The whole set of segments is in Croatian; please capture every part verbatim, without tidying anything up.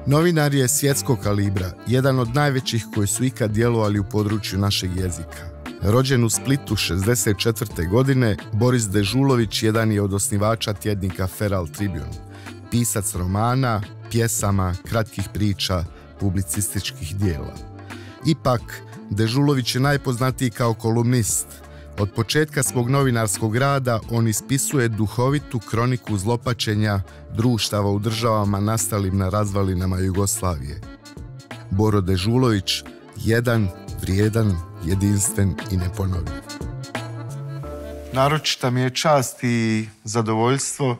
Novinar je svjetskog kalibra, jedan od najvećih koji su ikad djelovali u području našeg jezika. Rođen u Splitu šezdeset četvrte godine, Boris Dežulović jedan je od osnivača tjednika Feral Tribune, pisac romana, pjesama, kratkih priča, publicističkih dijela. Ipak, Dežulović je najpoznatiji kao kolumnist. Od početka svog novinarskog rada on ispisuje duhovitu kroniku zlopačenja društava u državama nastalim na razvalinama Jugoslavije. Boro Dežulović, jedan, vrijedan, jedinstven i neponovljiv. Naročita mi je čast i zadovoljstvo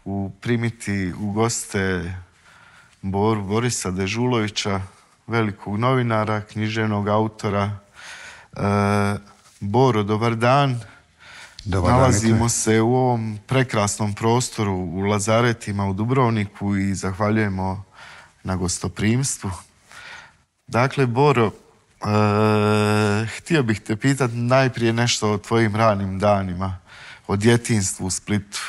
u primiti u goste Boru Borisa Dežulovića, velikog novinara, književnog autora. E, Boro, dobar dan. Dobar Nalazimo dan, se u ovom prekrasnom prostoru u Lazaretima u Dubrovniku i zahvaljujemo na gostoprimstvu. Dakle, Boro, e, htio bih te pitati najprije nešto o tvojim ranim danima, o djetinjstvu u Splitu.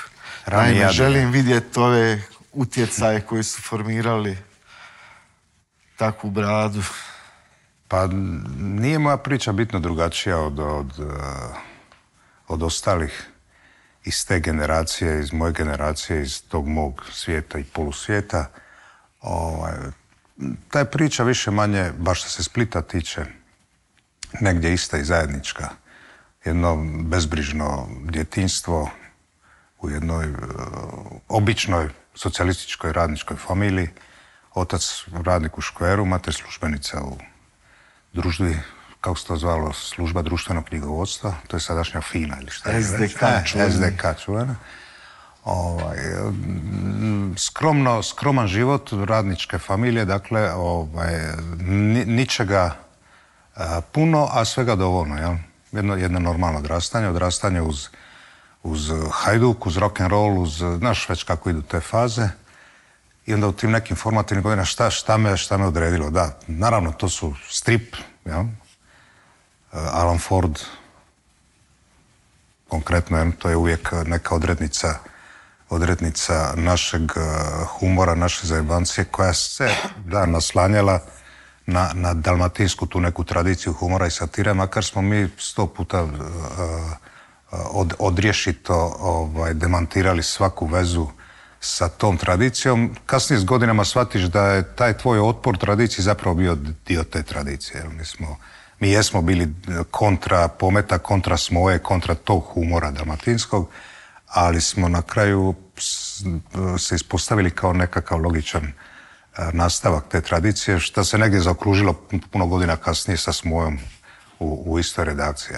Naime, ja želim vidjeti ove utjecaje koji su formirali takvu bradu. Pa nije moja priča bitno drugačija od, od, od ostalih iz te generacije, iz moje generacije, iz tog mog svijeta i polusvijeta. Ovaj, ta je priča više manje, baš što se Splita tiče, negdje ista i zajednička. Jedno bezbrižno djetinjstvo u jednoj uh, običnoj socijalističkoj radničkoj familiji. Otac radnik u škveru, mater službenica u družbi, kako se to zvalo, služba društvenog knjigovodstva, to je sadašnja FINA ili šta je. S D K čuvena. S D K čuvena. Ovaj, skromno, skroman život radničke familije, dakle, ovaj, ni, ničega a, puno, a svega dovoljno, jel? Jedno, jedno normalno odrastanje, odrastanje uz, uz hajduk, uz rock'n'roll, uz, znaš već kako idu te faze. I onda u tim nekim formativnim godinama šta, šta, me, šta me odredilo? Da, naravno, to su strip, ja? Alan Ford, konkretno, ja? To je uvijek neka odrednica, odrednica našeg humora, naše zajebancije, koja se da, naslanjala na, na dalmatinsku tu neku tradiciju humora i satire, makar smo mi sto puta uh, od, odriješito ovaj, demantirali svaku vezu sa tom tradicijom. Kasnije s godinama shvatiš da je taj tvoj otpor tradiciji zapravo bio dio te tradicije. Mi, smo, mi jesmo bili kontra pometa, kontra smoje, kontra tog humora dalmatinskog, ali smo na kraju se ispostavili kao nekakav logičan nastavak te tradicije, što se negdje zaokružilo puno godina kasnije sa smojom u, u istoj redakciji.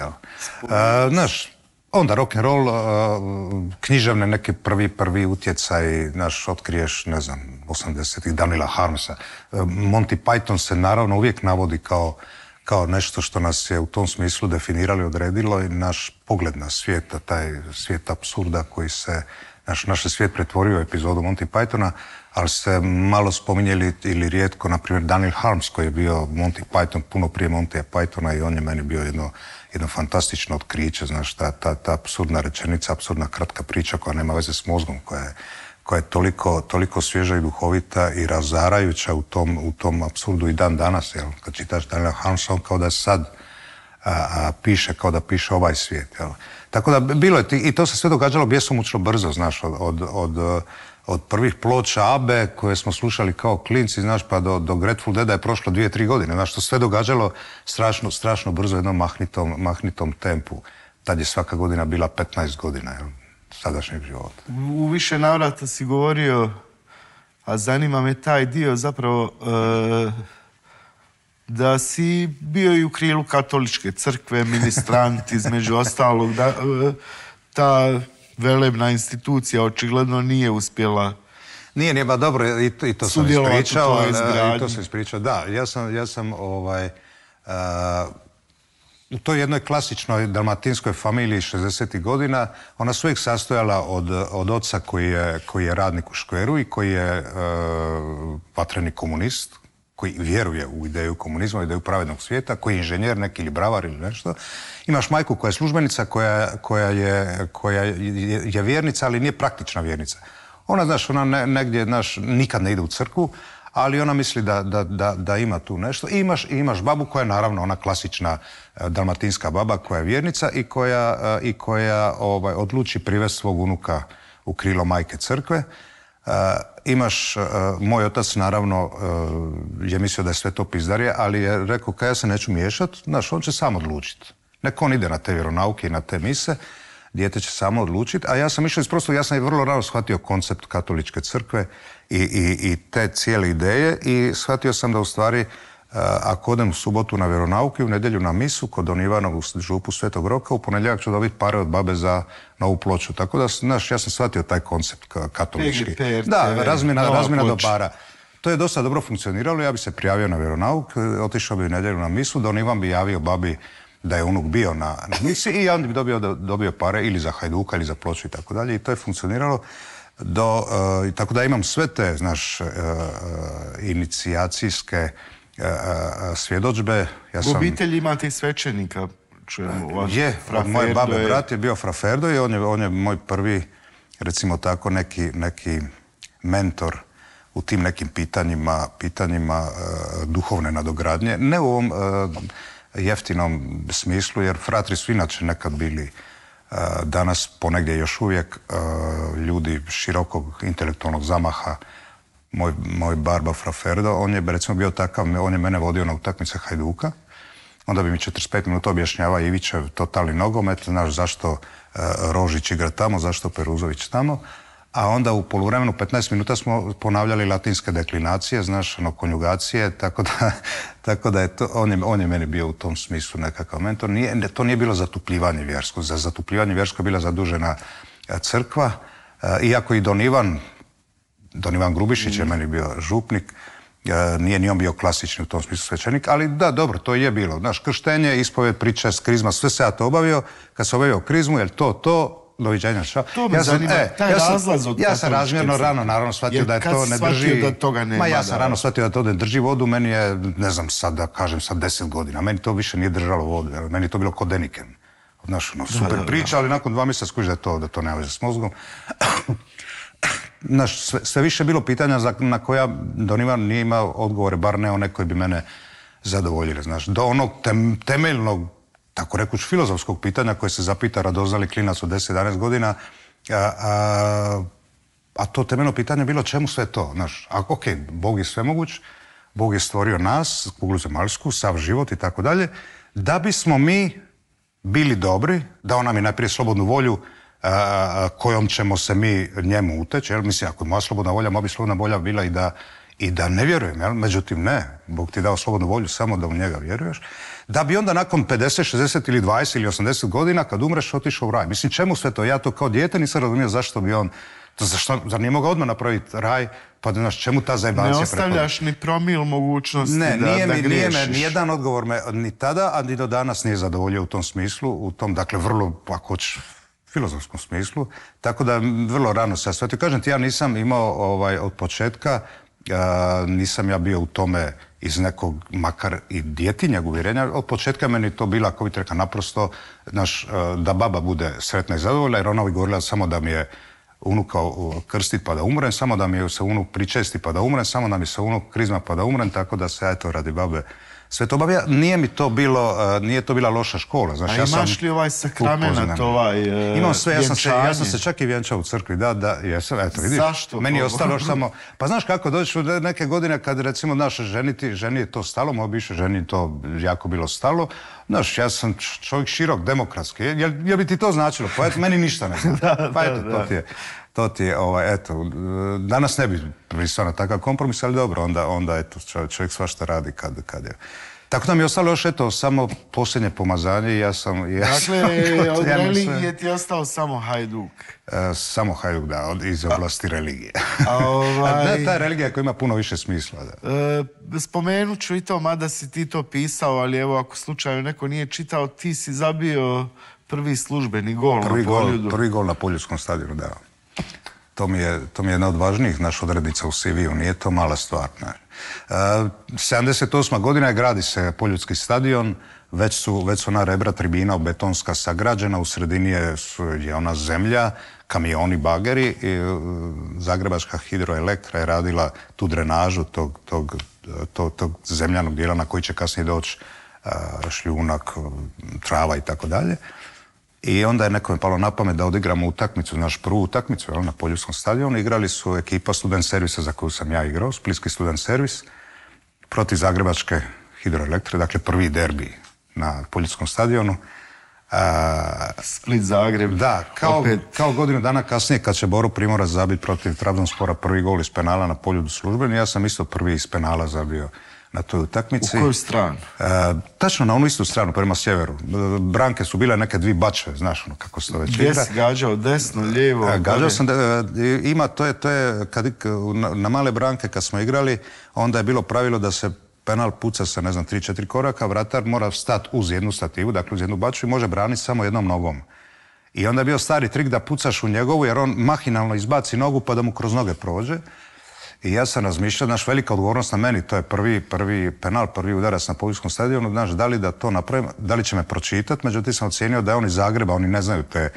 A, znaš, onda rock'n'roll, uh, književne neke prvi, prvi utjecaj, naš, otkriješ, ne znam, osamdesetih Daniela Harmsa. Uh, Monty Python se naravno uvijek navodi kao, kao nešto što nas je u tom smislu definiralo i odredilo i naš pogled na svijeta, taj svijet apsurda koji se, naš, naš svijet pretvorio u epizodu Monty Pythona, ali se malo spominjeli ili rijetko, na primjer, Daniel Harms koji je bio Monty Python puno prije Montyja Pythona i on je meni bio jedno jedno fantastično otkriće, znaš, ta, ta, ta apsurdna rečenica, apsurdna kratka priča koja nema veze s mozgom, koja je, koja je toliko, toliko svježa i duhovita i razarajuća u tom, u tom apsurdu i dan danas, jel? Kad čitaš Daniela Harmsa, on kao da sad a, a, piše, kao da piše ovaj svijet, jel? Tako da bilo je, i to se sve događalo bjesomučno brzo, znaš, od, od, od, od prvih ploča Abe koje smo slušali kao klinci, znaš, pa do, do Grateful Deada je prošlo dvije, tri godine, znaš, to sve događalo strašno, strašno brzo, jednom mahnitom, mahnitom tempu. Tad je svaka godina bila petnaest godina, jel, sadašnjeg života. U više navrata si govorio, a zanima me taj dio zapravo, e, da si bio i u krilu katoličke crkve, ministrant, između ostalog, da, e, ta velebna institucija očigledno nije uspjela. Nije, nije, ba dobro, i to, i to sam ispričao. I to sam ispričao, da. Ja sam, ja sam ovaj, uh, u toj jednoj klasičnoj dalmatinskoj familiji šezdesetih godina, ona se uvijek sastojala od, od oca koji je, koji je radnik u škveru i koji je uh, vatreni komunist, koji vjeruje u ideju komunizma, u ideju pravednog svijeta, koji je inženjer neki ili bravar ili nešto. Imaš majku koja je službenica, koja, koja, je, koja je, je vjernica, ali nije praktična vjernica. Ona, znaš, ona ne, negdje, znaš, nikad ne ide u crkvu, ali ona misli da, da, da, da ima tu nešto. I imaš, imaš babu koja je naravno ona klasična dalmatinska baba koja je vjernica i koja, i koja ovaj, odluči privesti svog unuka u krilo majke crkve. Uh, imaš, uh, moj otac naravno uh, je mislio da je sve to pizdarije, ali je rekao kad ja se neću miješati, znaš, on će sam odlučiti. Nek on ide na te vjeronauke i na te mise, dijete će samo odlučiti, a ja sam išao iz prostog, ja sam i vrlo rano shvatio koncept katoličke crkve i, i, i te cijele ideje i shvatio sam da u stvari uh, ako odem u subotu na vjeronauke, u nedjelju na misu kod Don Ivana u župu Svetog Roka, u ponedjeljak ću dobiti pare od babe za novu ploču. Tako da, znaš, ja sam shvatio taj koncept katolički. Da, razmjena, razmjena dobara. To je dosta dobro funkcioniralo, ja bi se prijavio na vjeronauk, otišao bi u nedjelju na misu, Don Ivan bi javio babi da je unuk bio na, na misi i on bi dobio, dobio pare ili za Hajduka ili za ploču i tako dalje i to je funkcioniralo. Do, uh, tako da imam sve te, znaš, uh, inicijacijske uh, svjedodžbe. Ja u obitelji imate i svećenika. Čujemo, je, od moje babe je... brat je bio Fra Ferdo i on je, on je moj prvi, recimo tako, neki, neki mentor u tim nekim pitanjima, pitanjima uh, duhovne nadogradnje. Ne u ovom uh, jeftinom smislu, jer fratri su inače nekad bili uh, danas ponegdje još uvijek uh, ljudi širokog intelektualnog zamaha. Moj, moj barba Fra Ferdo, on je recimo bio takav, on je mene vodio na utakmice Hajduka. Onda bi mi četrdeset pet minuta objašnjava Ivićev totalni nogomet, znaš zašto uh, Rožić igra tamo, zašto Peruzović tamo. A onda u poluvremenu petnaest minuta smo ponavljali latinske deklinacije, znaš, ono, konjugacije, tako da, tako da je to, on je, on je meni bio u tom smislu nekakav mentor. Nije, to nije bilo zatupljivanje vjersko. Za zatupljivanje vjersko je bila zadužena crkva. Uh, iako i Don Ivan, Don Ivan Grubišić mm. je meni bio župnik, uh, nije ni on bio klasični u tom smislu svećenik, ali da, dobro, to je bilo. Znaš, krštenje, ispovjed, priča, krizma, sve se ja to obavio. Kad sam obavio krizmu, jer to, to, doviđenja, šta? To me ja sam, zanima, e, taj ja sam, razlaz od ja sam razmjerno rano naravno shvatio da je to ne drži... Da toga nema, ma ja sam da... rano shvatio da to ne drži vodu, meni je, ne znam sad da kažem, sad deset godina, meni to više nije držalo vodu, meni je to bilo ko Deniken. Znaš, no, super da, da, priča, da. Ali nakon dva mjeseca skužiš da je to, da to nema veze s mozgom. Znaš, sve, sve više bilo pitanja za, na koja Don Ivan nije imao odgovore, bar ne one koji bi mene zadovoljili, znaš. Do onog tem, temeljnog, tako rekuć, filozofskog pitanja koje se zapita radoznali klinac od deset jedanaest godina, a, a, a to temeljno pitanje je bilo čemu sve to, znaš. A, ok, Bog je svemoguć, Bog je stvorio nas, kuglu zemaljsku, sav život i tako dalje, da bismo mi bili dobri, dao nam je najprije slobodnu volju a, kojom ćemo se mi njemu uteći, jer mislim, ako je moja slobodna volja, moja bi slobodna volja bila i da, i da ne vjerujem, jel? Međutim ne, Bog ti je dao slobodnu volju samo da u njega vjeruješ, da bi onda nakon pedeset, šezdeset ili dvadeset ili osamdeset godina kad umreš otišao u raj. Mislim, čemu sve to? Ja to kao dijete nisam razumio zašto bi on, to zašto, zar nije mogao odmah napraviti raj, pa da znaš čemu ta zajebancija prepada? Ne ostavljaš ni promil mogućnosti ne, da, nije da mi, griješiš. Nije me, nijedan odgovor me ni tada, a ni do danas nije zadovoljio u tom smislu, u tom, dakle, vrlo, ako hoćeš, filozofskom smislu, tako da vrlo rano se shvatio. Kažem ti, ja nisam imao ovaj, od početka, a, nisam ja bio u tome iz nekog, makar i djetinjeg uvjerenja. Od početka meni to bila, ako bi te rekao, naprosto, znaš, da baba bude sretna i zadovoljna, jer ona bi govorila samo da mi je unuka krstit pa da umrem, samo da mi je se unuk pričesti pa da umrem, samo da mi se unuk krizma pa da umrem, tako da se, eto, radi babe sve to obavlja. Nije mi to bilo, uh, nije to bila loša škola. Znaš, a ja imaš sam li ovaj sakramenat, ovaj uh, imam sve, ja sam, se, ja sam se čak i vjenčao u crkvi, da, da, jesam, eto, vidiš. Zašto? Meni je ostalo još samo, pa znaš kako, dođeš u neke godine kad, recimo, naše ženiti, ženi je to stalo, moj bivšoj ženi to jako bilo stalo, znaš, ja sam čovjek širok, demokratski, jel, jel bi ti to značilo? Pa eto, meni ništa ne zna. da, pa eto, da, to da. ti je. To ti je, ovaj, eto, danas ne bi pristao na takav kompromis, ali dobro, onda, onda eto, čovjek, čovjek svašta radi kad, kad je. Tako da mi je ostalo još, eto, samo posljednje pomazanje i ja sam... Ja dakle, sam, od religije ti je ostao samo Hajduk. E, samo Hajduk, da, od, iz oblasti a, religije. A ovaj... da, ta religija koja ima puno više smisla, da. E, spomenut ću i to, mada si ti to pisao, ali evo, ako slučajno neko nije čitao, ti si zabio prvi službeni gol prvi na gol, Poljudu. Prvi gol na Poljudskom stadionu, da. to mi je, to mi je jedna od važnijih naš odrednica u C V-u, nije to mala stvar. Ne. Uh, sedamdeset osma godina gradi se Poljudski stadion, već su, već su ona rebra tribina betonska sagrađena, u sredini je, je ona zemlja, kamioni, bageri, i uh, Zagrebačka hidroelektra je radila tu drenažu tog, tog, tog, tog zemljanog dijela na koji će kasnije doći uh, šljunak, trava i tako dalje. I onda je nekome palo na pamet da odigramo utakmicu, naš prvu utakmicu jel, na Poljudskom stadionu. Igrali su ekipa Student servisa za koju sam ja igrao, Splitski Student servis, protiv Zagrebačke hidroelektre, dakle prvi derbi na Poljudskom stadionu. A, Split Zagreb. Da, kao, kao godinu dana kasnije kad će Boro Primorac zabiti protiv Trabzonspora prvi gol iz penala na Poljudu službeni, ja sam isto prvi iz penala zabio na toj utakmici. U koju stranu? E, tačno na onu istu stranu, prema sjeveru. Branke su bile neke dvi bačve, znaš ono kako se to već igra. Gdje si gađao, desno, lijevo? E, gađao sam, da, ima, to je, to je kad, na, na male branke kad smo igrali, onda je bilo pravilo da se penal puca sa, ne znam, tri četiri koraka, vratar mora stati uz jednu stativu, dakle uz jednu bačvu i može braniti samo jednom nogom. I onda je bio stari trik da pucaš u njegovu, jer on mahinalno izbaci nogu pa da mu kroz noge prođe. I ja sam razmišljao, znaš, velika odgovornost na meni, to je prvi, prvi penal, prvi udarac na Poljskom stadionu, znaš, da li da to napravim, da li će me pročitati, međutim sam ocijenio da je on iz Zagreba, oni ne znaju te,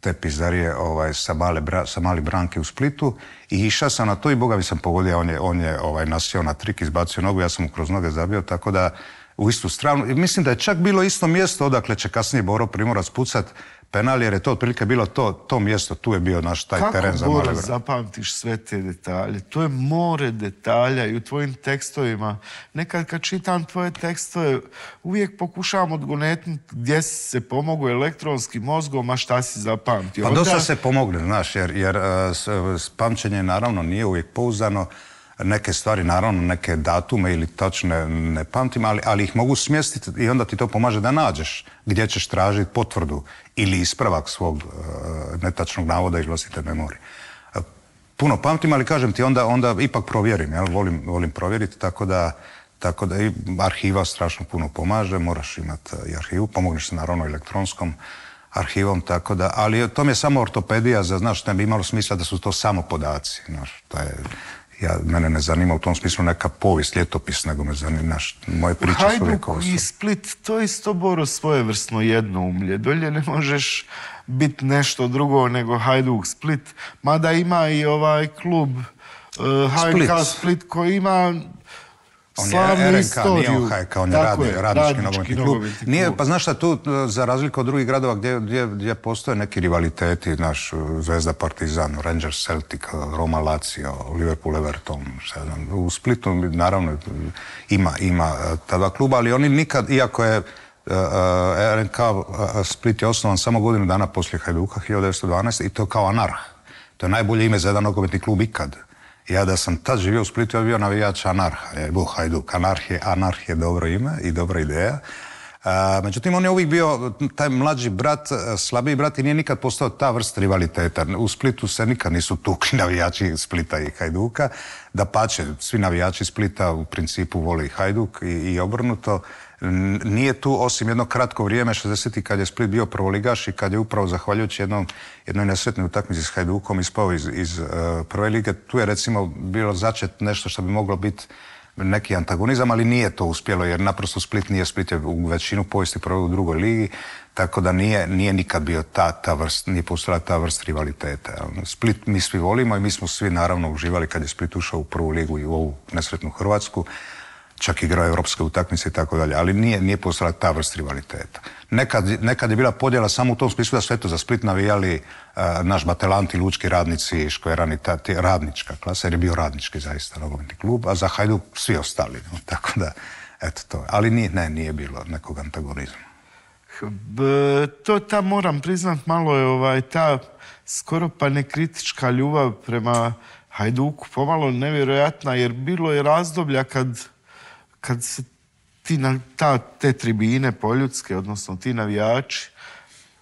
te pizdarije ovaj, sa, male, sa mali branke u Splitu i išao sam na to i boga mi sam pogodio, on je, on je ovaj, nasio na trik, izbacio nogu, ja sam mu kroz noge zabio, tako da u istu stranu. I mislim da je čak bilo isto mjesto odakle će kasnije Boro Primorac pucat penal, jer je to otprilike bilo to, to mjesto, tu je bio naš taj kako teren za male branke. Kako zapamtiš sve te detalje? To je more detalja i u tvojim tekstovima. Nekad kad čitam tvoje tekstove, uvijek pokušavam odgonetnuti gdje si se pomogao elektronskim mozgom, a šta si zapamtio. Pa onda... dosta se pomogli, znaš, jer, jer uh, pamćenje naravno nije uvijek pouzdano. Neke stvari, naravno, neke datume ili točne ne pamtim, ali, ali ih mogu smjestiti i onda ti to pomaže da nađeš gdje ćeš tražiti potvrdu ili ispravak svog uh, netačnog navoda ili vlastite memorije. Uh, puno pamtim, ali kažem ti, onda, onda ipak provjerim, jel? Volim, volim provjeriti, tako da, tako da i arhiva strašno puno pomaže, moraš imati i arhivu, pomogneš se naravno elektronskom arhivom, tako da, ali to mi je samo ortopedija, za, znaš, ne bi imalo smisla da su to samo podaci, znaš, to je... Ja, mene ne zanima u tom smislu neka povijest, ljetopis, nego me zanima, naš, moje priče su uvijek ovo. Hajduk i Split, to je isto, Boro, svojevrsno jednoumlje. Dolje ne možeš biti nešto drugo nego Hajduk Split, mada ima i ovaj klub uh, H J K Split koji ima slavnu istoriju. Nije on H J K, on je radi, je, radnički nogometni klub. Nije, pa znaš šta, tu, za razliku od drugih gradova gdje, gdje, gdje postoje neki rivaliteti, naš Zvezda Partizan, Rangers Celtic, Roma Lazio, Liverpool Everton, šta znam, u Splitu naravno ima, ima ta dva kluba, ali oni nikad, iako je R N K Split je osnovan samo godinu dana poslije Hajduka, hiljadu devetsto dvanaeste. i to kao Anarh. To je najbolje ime za jedan nogometni klub ikad. Ja da sam tad živio u Splitu, ja bio navijač Anarha, je bio Hajduk. Anarh je, Anarh je dobro ime i dobra ideja. A, međutim, on je uvijek bio taj mlađi brat, slabiji brat i nije nikad postao ta vrsta rivaliteta. U Splitu se nikad nisu tukli navijači Splita i Hajduka. Dapače, svi navijači Splita u principu vole i Hajduk i, i obrnuto. Nije tu, osim jedno kratko vrijeme, šezdesetih kad je Split bio prvoligaš i kad je upravo zahvaljujući jednom, jednoj nesretnoj utakmici s Hajdukom ispao iz, iz uh, prve lige, tu je recimo bilo začet nešto što bi moglo biti neki antagonizam, ali nije to uspjelo jer naprosto Split nije, Split je u većinu povijesti proveo u drugoj ligi, tako da nije, nije nikad bio ta, ta vrst, nije postojala ta vrst rivaliteta. Split mi svi volimo i mi smo svi naravno uživali kad je Split ušao u prvu ligu i u ovu nesretnu Hrvatsku, čak igrao europske utakmice i tako dalje, ali nije, nije postojala ta vrst rivaliteta. Nekad, nekad je bila podjela samo u tom smislu da su eto za Split navijali uh, naš Batelanti, lučki radnici, Škverani, ta, ta radnička klasa, jer je bio radnički zaista nogometni klub, a za Hajduk svi ostali. No, tako da, eto to. Ali nije, ne, nije bilo nekog antagonizma. B, to ta, moram priznat, malo je ovaj, ta skoro pa nekritička ljubav prema Hajduku pomalo nevjerojatna, jer bilo je razdoblja kad kad se ti na ta, te tribine poljudske, odnosno ti navijači,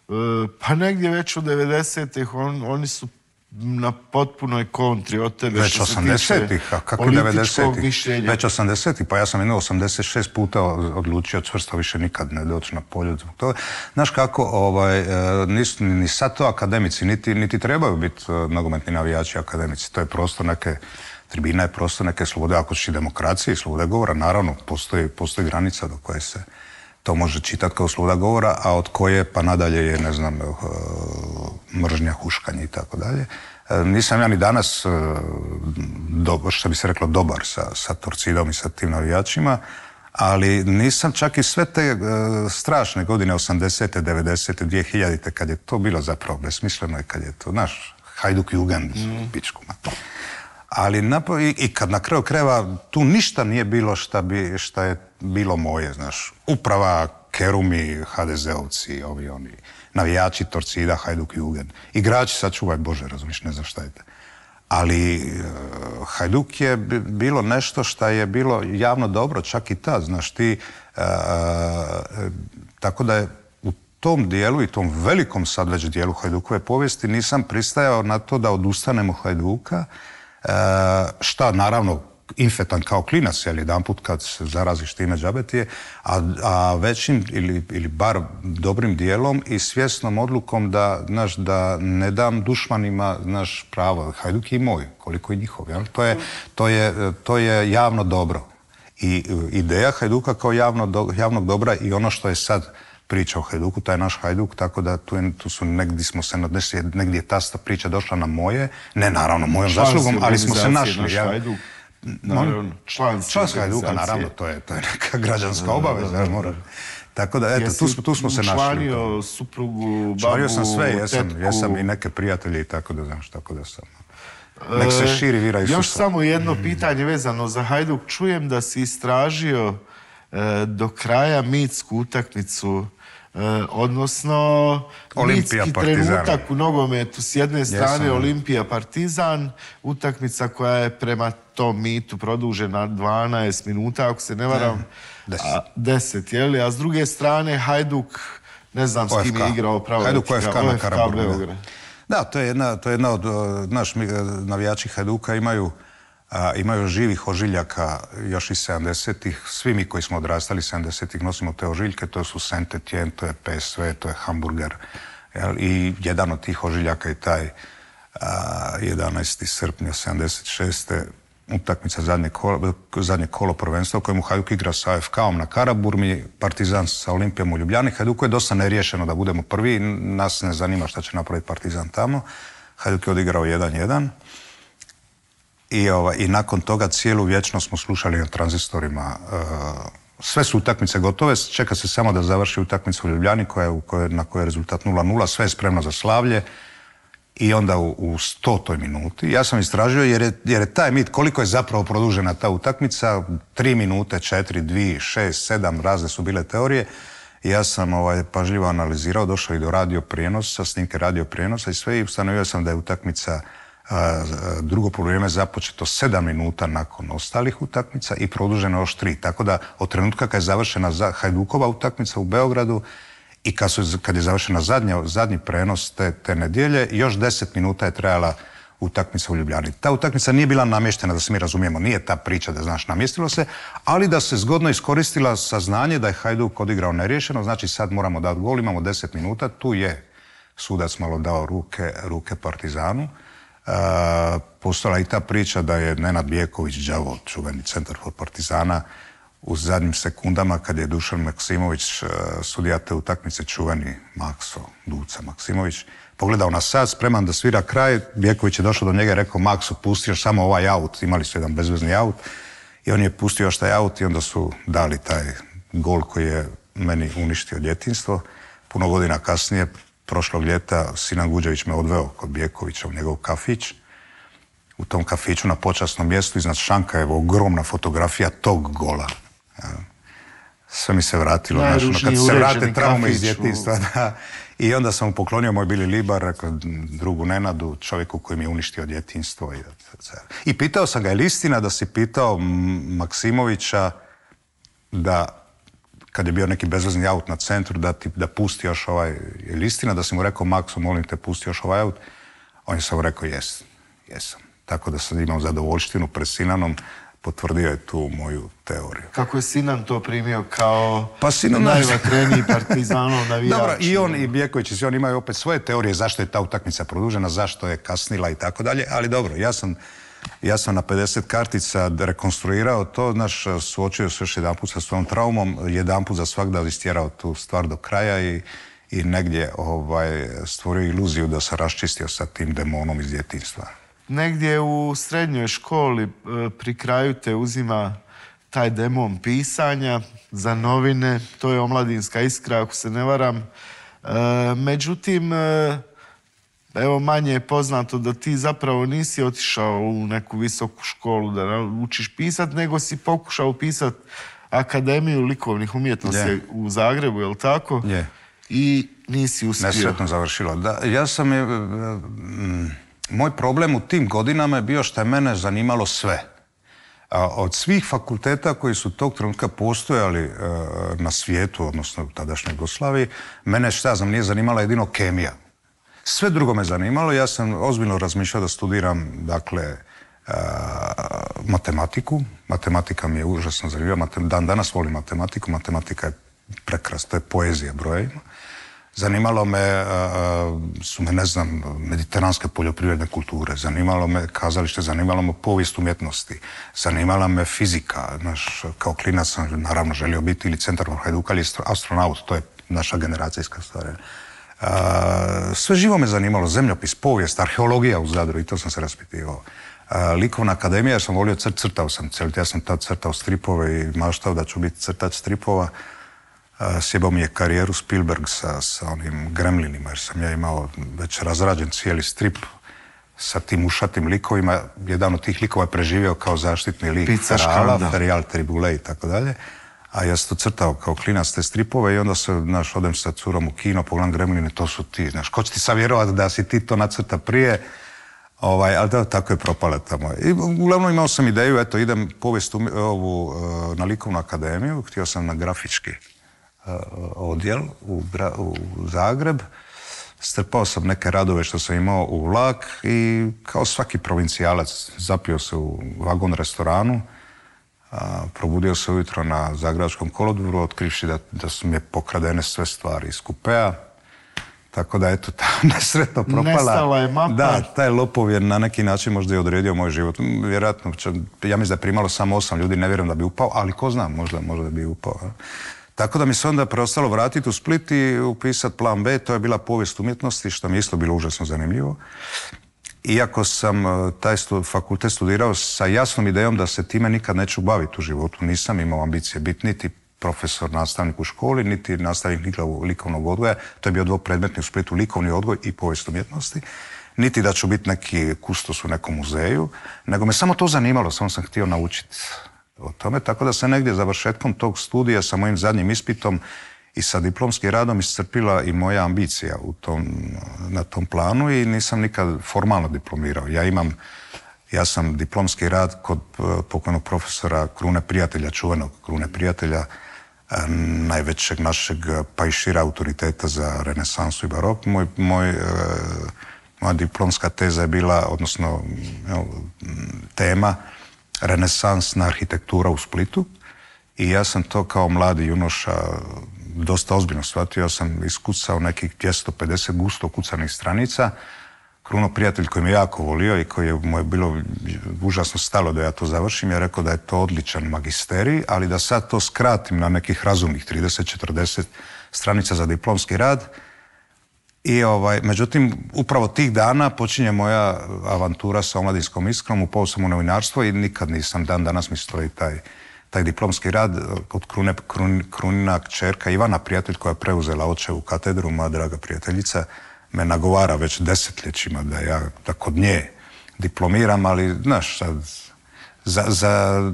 e, pa negdje već u devedesetih on, oni su na potpunoj kontri od tebe. Već osamdesetih, a kako devedesetih? Već osamdesetih, pa ja sam jedno osamdeset šest puta odlučio čvrsto više nikad ne doći na polju. To, znaš kako, ovaj, nisu ni sad to akademici, niti, niti trebaju biti nogometni navijači akademici. To je prostor neke, tribina je prostor neke slobode, ako će demokracije i slobode govora, naravno, postoji, postoji granica do koje se to može čitati kao sloboda govora, a od koje pa nadalje je, ne znam, mržnja, huškanje i tako dalje. Nisam ja ni danas, do, što bi se reklo, dobar sa, sa Torcidom i sa tim navijačima, ali nisam čak i sve te uh, strašne godine, osamdesete, devedesete, dvije hiljadite, kad je to bilo zapravo besmisleno i kad je to, znaš, Hajduk Jugend, mm. pičku mato. Ali napo, i, i kad na kraju krajeva tu ništa nije bilo šta, bi, šta je bilo moje, znaš. Uprava, Kerumi, ha de zeovci, ovi oni, navijači Torcida, Hajduk Jugend. Igrači, sačuvaj Bože, razumiješ, ne znam šta je te. Ali uh, Hajduk je bilo nešto šta je bilo javno dobro, čak i ta, znaš ti. Uh, uh, tako da je u tom dijelu i tom velikom sad već dijelu Hajdukove povijesti nisam pristajao na to da odustanemo Hajduka. Uh, šta naravno infetan kao klinac, jer jedan put kad se zaraziš time džabetije, a, a većim ili, ili bar dobrim dijelom i svjesnom odlukom da, znaš, da ne dam dušmanima naš pravo. Hajduk je i moj, koliko i njihov. Jel? To, je, to, je, to je javno dobro. I ideja Hajduka kao javno do, javnog dobra i ono što je sad priča o Hajduku, taj naš Hajduk, tako da tu, je, tu su negdje smo se nadnesli, negdje je ta priča došla na moje, ne naravno mojom zaslugom, ali smo se našli. Ja, naravno, član Hajduka, naravno, to je, to je neka građanska obaveza. Mora. Tako da, eto, tu, tu smo se našli. Članio suprugu, babu, članio sam sve, jesam, jesam i neke prijatelje i tako da, znaš, tako da sam. Nek se širi vira Isusa. Još samo jedno pitanje vezano za Hajduk. Čujem da si istražio e, do kraja mitsku utakmicu, e, odnosno Olimpija, mitski Partizan. trenutak u nogometu. S jedne strane Jesam. Olimpija Partizan, utakmica koja je prema tom mitu produžena dvanaest minuta, ako se ne varam, deset. A, deset, jeli? A s druge strane Hajduk, ne znam s kim je igrao pravo. Hajduk O F K na Karaburmi. Beograd. Da, to je jedna, to je jedna od, naš, navijači Hajduka imaju, a, imaju živih ožiljaka još iz sedamdesetih. Svi mi koji smo odrastali sedamdesetih nosimo te ožiljke, to su Saint Etienne, to je P S V, to je Hamburger. Jel? I jedan od tih ožiljaka je taj a, jedanaesti srpnja sedamdeset šeste utakmica zadnje kolo, zadnje kolo prvenstva u kojemu Hajduk igra sa O F K-om na Karaburmi, Partizan sa Olimpijom u Ljubljani. Hajduku je dosta neriješeno da budemo prvi, nas ne zanima šta će napraviti Partizan tamo. Hajduk je odigrao jedan jedan i, ova, i nakon toga cijelu vječnost smo slušali na tranzistorima. Uh, sve su utakmice gotove, čeka se samo da završi utakmica u Ljubljani koja je, u kojoj, na kojoj je rezultat nula nula, sve je spremno za slavlje. I onda u, u stotoj minuti, ja sam istražio jer je, jer je taj mit, koliko je zapravo produžena ta utakmica, tri minute, četiri, dvije, šest, sedam, razne su bile teorije. I ja sam ovaj, pažljivo analizirao, došao i do radio prijenosa, snimke radio prijenosa i sve i ustanovio sam da je utakmica a, drugo poluvrijeme započeto sedam minuta nakon ostalih utakmica i produženo još tri. Tako da od trenutka kad je završena za Hajdukova utakmica u Beogradu i kad, su, kad je završena zadnja, zadnji prenos te, te nedjelje, još deset minuta je trajala utakmica u Ljubljani. Ta utakmica nije bila namještena, da se mi razumijemo, nije ta priča da, znaš, namjestilo se, ali da se zgodno iskoristila saznanje da je Hajduk odigrao neriješeno, znači sad moramo dati gol, imamo deset minuta, tu je sudac malo dao ruke, ruke Partizanu. E, postojala i ta priča da je Nenad Bjeković, đavo, čuveni centar for Partizana, u zadnjim sekundama kad je Dušan Maksimović, sudija te utakmice, čuveni Makso, Duca Maksimović, pogledao na sat, spreman da svira kraj, Bjeković je došao do njega i rekao: Makso, pusti još samo ovaj aut, imali su jedan bezvezni aut, i on je pustio još taj aut i onda su dali taj gol koji je meni uništio djetinjstvo. Puno godina kasnije, prošlog ljeta, Sinan Guđević me odveo kod Bjekovića u njegov kafić. U tom kafiću na počasnom mjestu iznad šanka je ogromna fotografija tog gola. Sve mi se vratilo, znaš, ono, kad se vrate traume iz djetinjstva. Da. I onda sam mu poklonio moj Bili Libar, rekao, drugu Nenadu, čovjeku koji mi je uništio djetinjstvo. I, I pitao sam ga, je li istina da si pitao Maksimovića da, kad je bio neki bezvezni aut na centru, da, ti, da pusti još ovaj, je li istina da si mu rekao: Makso, molim te, pusti još ovaj aut? On je samo rekao, jes, jesam. Tako da sam imao zadovoljštinu pred Sinanom, potvrdio je tu moju teoriju. Kako je Sinan to primio kao pa Sinan, najvatreniji Partizanov navijač? Dobro, i on i Bjeković i svi oni imaju opet svoje teorije zašto je ta utakmica produžena, zašto je kasnila i tako dalje, ali dobro, ja sam, ja sam na pedeset kartica rekonstruirao to, znaš, suočio se još jedan put sa svojom traumom, jedan put za svakda istjerao tu stvar do kraja i, i negdje ovaj, stvorio iluziju da se raščistio sa tim demonom iz djetinjstva. Negdje u srednjoj školi pri kraju te uzima taj demon pisanja za novine, to je Omladinska iskra, ako se ne varam. E, međutim, evo manje je poznato da ti zapravo nisi otišao u neku visoku školu da učiš pisat, nego si pokušao pisat Akademiju likovnih umjetnosti yeah. u Zagrebu, je li tako? Yeah. I nisi uspio. Nesretno završilo. Da, ja sam je... Mm, moj problem u tim godinama je bio što je mene zanimalo sve. A od svih fakulteta koji su tog trenutka postojali e, na svijetu, odnosno u tadašnjoj Jugoslaviji, mene šta znam, nije zanimala jedino kemija. Sve drugo me zanimalo. Ja sam ozbiljno razmišljao da studiram, dakle, e, matematiku. Matematika mi je užasno zanimljiva. Dan danas volim matematiku. Matematika je prekrasna, to je poezija brojevima. Zanimalo me, su me, ne znam, mediteranske poljoprivredne kulture, zanimalo me kazalište, zanimalo me povijest umjetnosti, zanimala me fizika, znaš, kao klinac sam naravno želio biti ili centar Hajduka ili astronaut, to je naša generacijska stvar. Sve živo me zanimalo, zemljopis, povijest, arheologija u Zadru i to sam se raspitivao. Likovna akademija, jer sam volio crt, crtao sam celt, ja sam tad crtao stripove i maštao da ću biti crtač stripova. Sjebao mi je karijeru Spielberg sa, sa onim Gremlinima, jer sam ja imao već razrađen cijeli strip sa tim ušatim likovima. Jedan od tih likova je preživio kao zaštitni lik Ferala, Ferial, Tribule i tako dalje. A ja sam to crtao kao klinac te stripove i onda se, znaš, odem sa curom u kino, pogledam Gremline, to su ti, znaš, ko će ti savjerovati da si ti to nacrta prije? Ovaj, ali da, tako je propala tamo. I uglavnom imao sam ideju, eto, idem povijest u, ovu, na likovnu akademiju, htio sam na grafički odjel u, u Zagreb. Strpao sam neke radove što sam imao u vlak i kao svaki provincijalac zapio se u vagon restoranu, a, probudio se ujutro na Zagrebačkom kolodvoru, otkrivši da, da su mi je pokradene sve stvari iz kupea. Tako da, eto, ta nesretno propala. Nestala je mapa. Da, taj lopov je na neki način možda i odredio moj život. Vjerojatno, ja mislim da je primalo samo osam ljudi, ne vjerujem da bi upao, ali ko zna, možda, možda bi upao. Ja. Tako da mi se onda preostalo vratiti u Split i upisati plan B, to je bila povijest umjetnosti, što mi je isto bilo užasno zanimljivo. Iako sam taj fakultet studirao sa jasnom idejom da se time nikad neću baviti u životu, nisam imao ambicije biti niti profesor, nastavnik u školi, niti nastavnik likovnog odgoja, to je bio dvopredmetni u Splitu, likovni odgoj i povijest umjetnosti, niti da ću biti neki kustos u nekom muzeju, nego me samo to zanimalo, samo sam htio naučiti o tome, tako da se negdje završetkom tog studija sa mojim zadnjim ispitom i sa diplomskim radom iscrpila i moja ambicija u tom, na tom planu i nisam nikad formalno diplomirao. Ja imam, ja sam diplomski rad kod pokojnog profesora Krune Prijatelja, čuvenog Krune Prijatelja, najvećeg našeg pa i šira autoriteta za renesansu i barok. Moj, moj, moja diplomska teza je bila, odnosno tema, renesansna arhitektura u Splitu i ja sam to kao mladi junoša dosta ozbiljno shvatio. Ja sam iskucao nekih dvjesto pedeset gusto kucanih stranica. Kruno Prijatelj koji me jako volio i koji je mu je bilo užasno stalo da ja to završim, je rekao da je to odličan magisterij, ali da sad to skratim na nekih razumnih trideset četrdeset stranica za diplomski rad. I ovaj, međutim, upravo tih dana počinje moja avantura sa Omladinskom iskrom, upao sam u novinarstvo i nikad nisam, dan danas mi stoji taj, taj diplomski rad od Krune, Krun, Krunina kćerka Ivana Prijatelj koja je preuzela očevu katedru, moja draga prijateljica, me nagovara već desetljećima da ja da kod nje diplomiram, ali znaš, sad, za, za,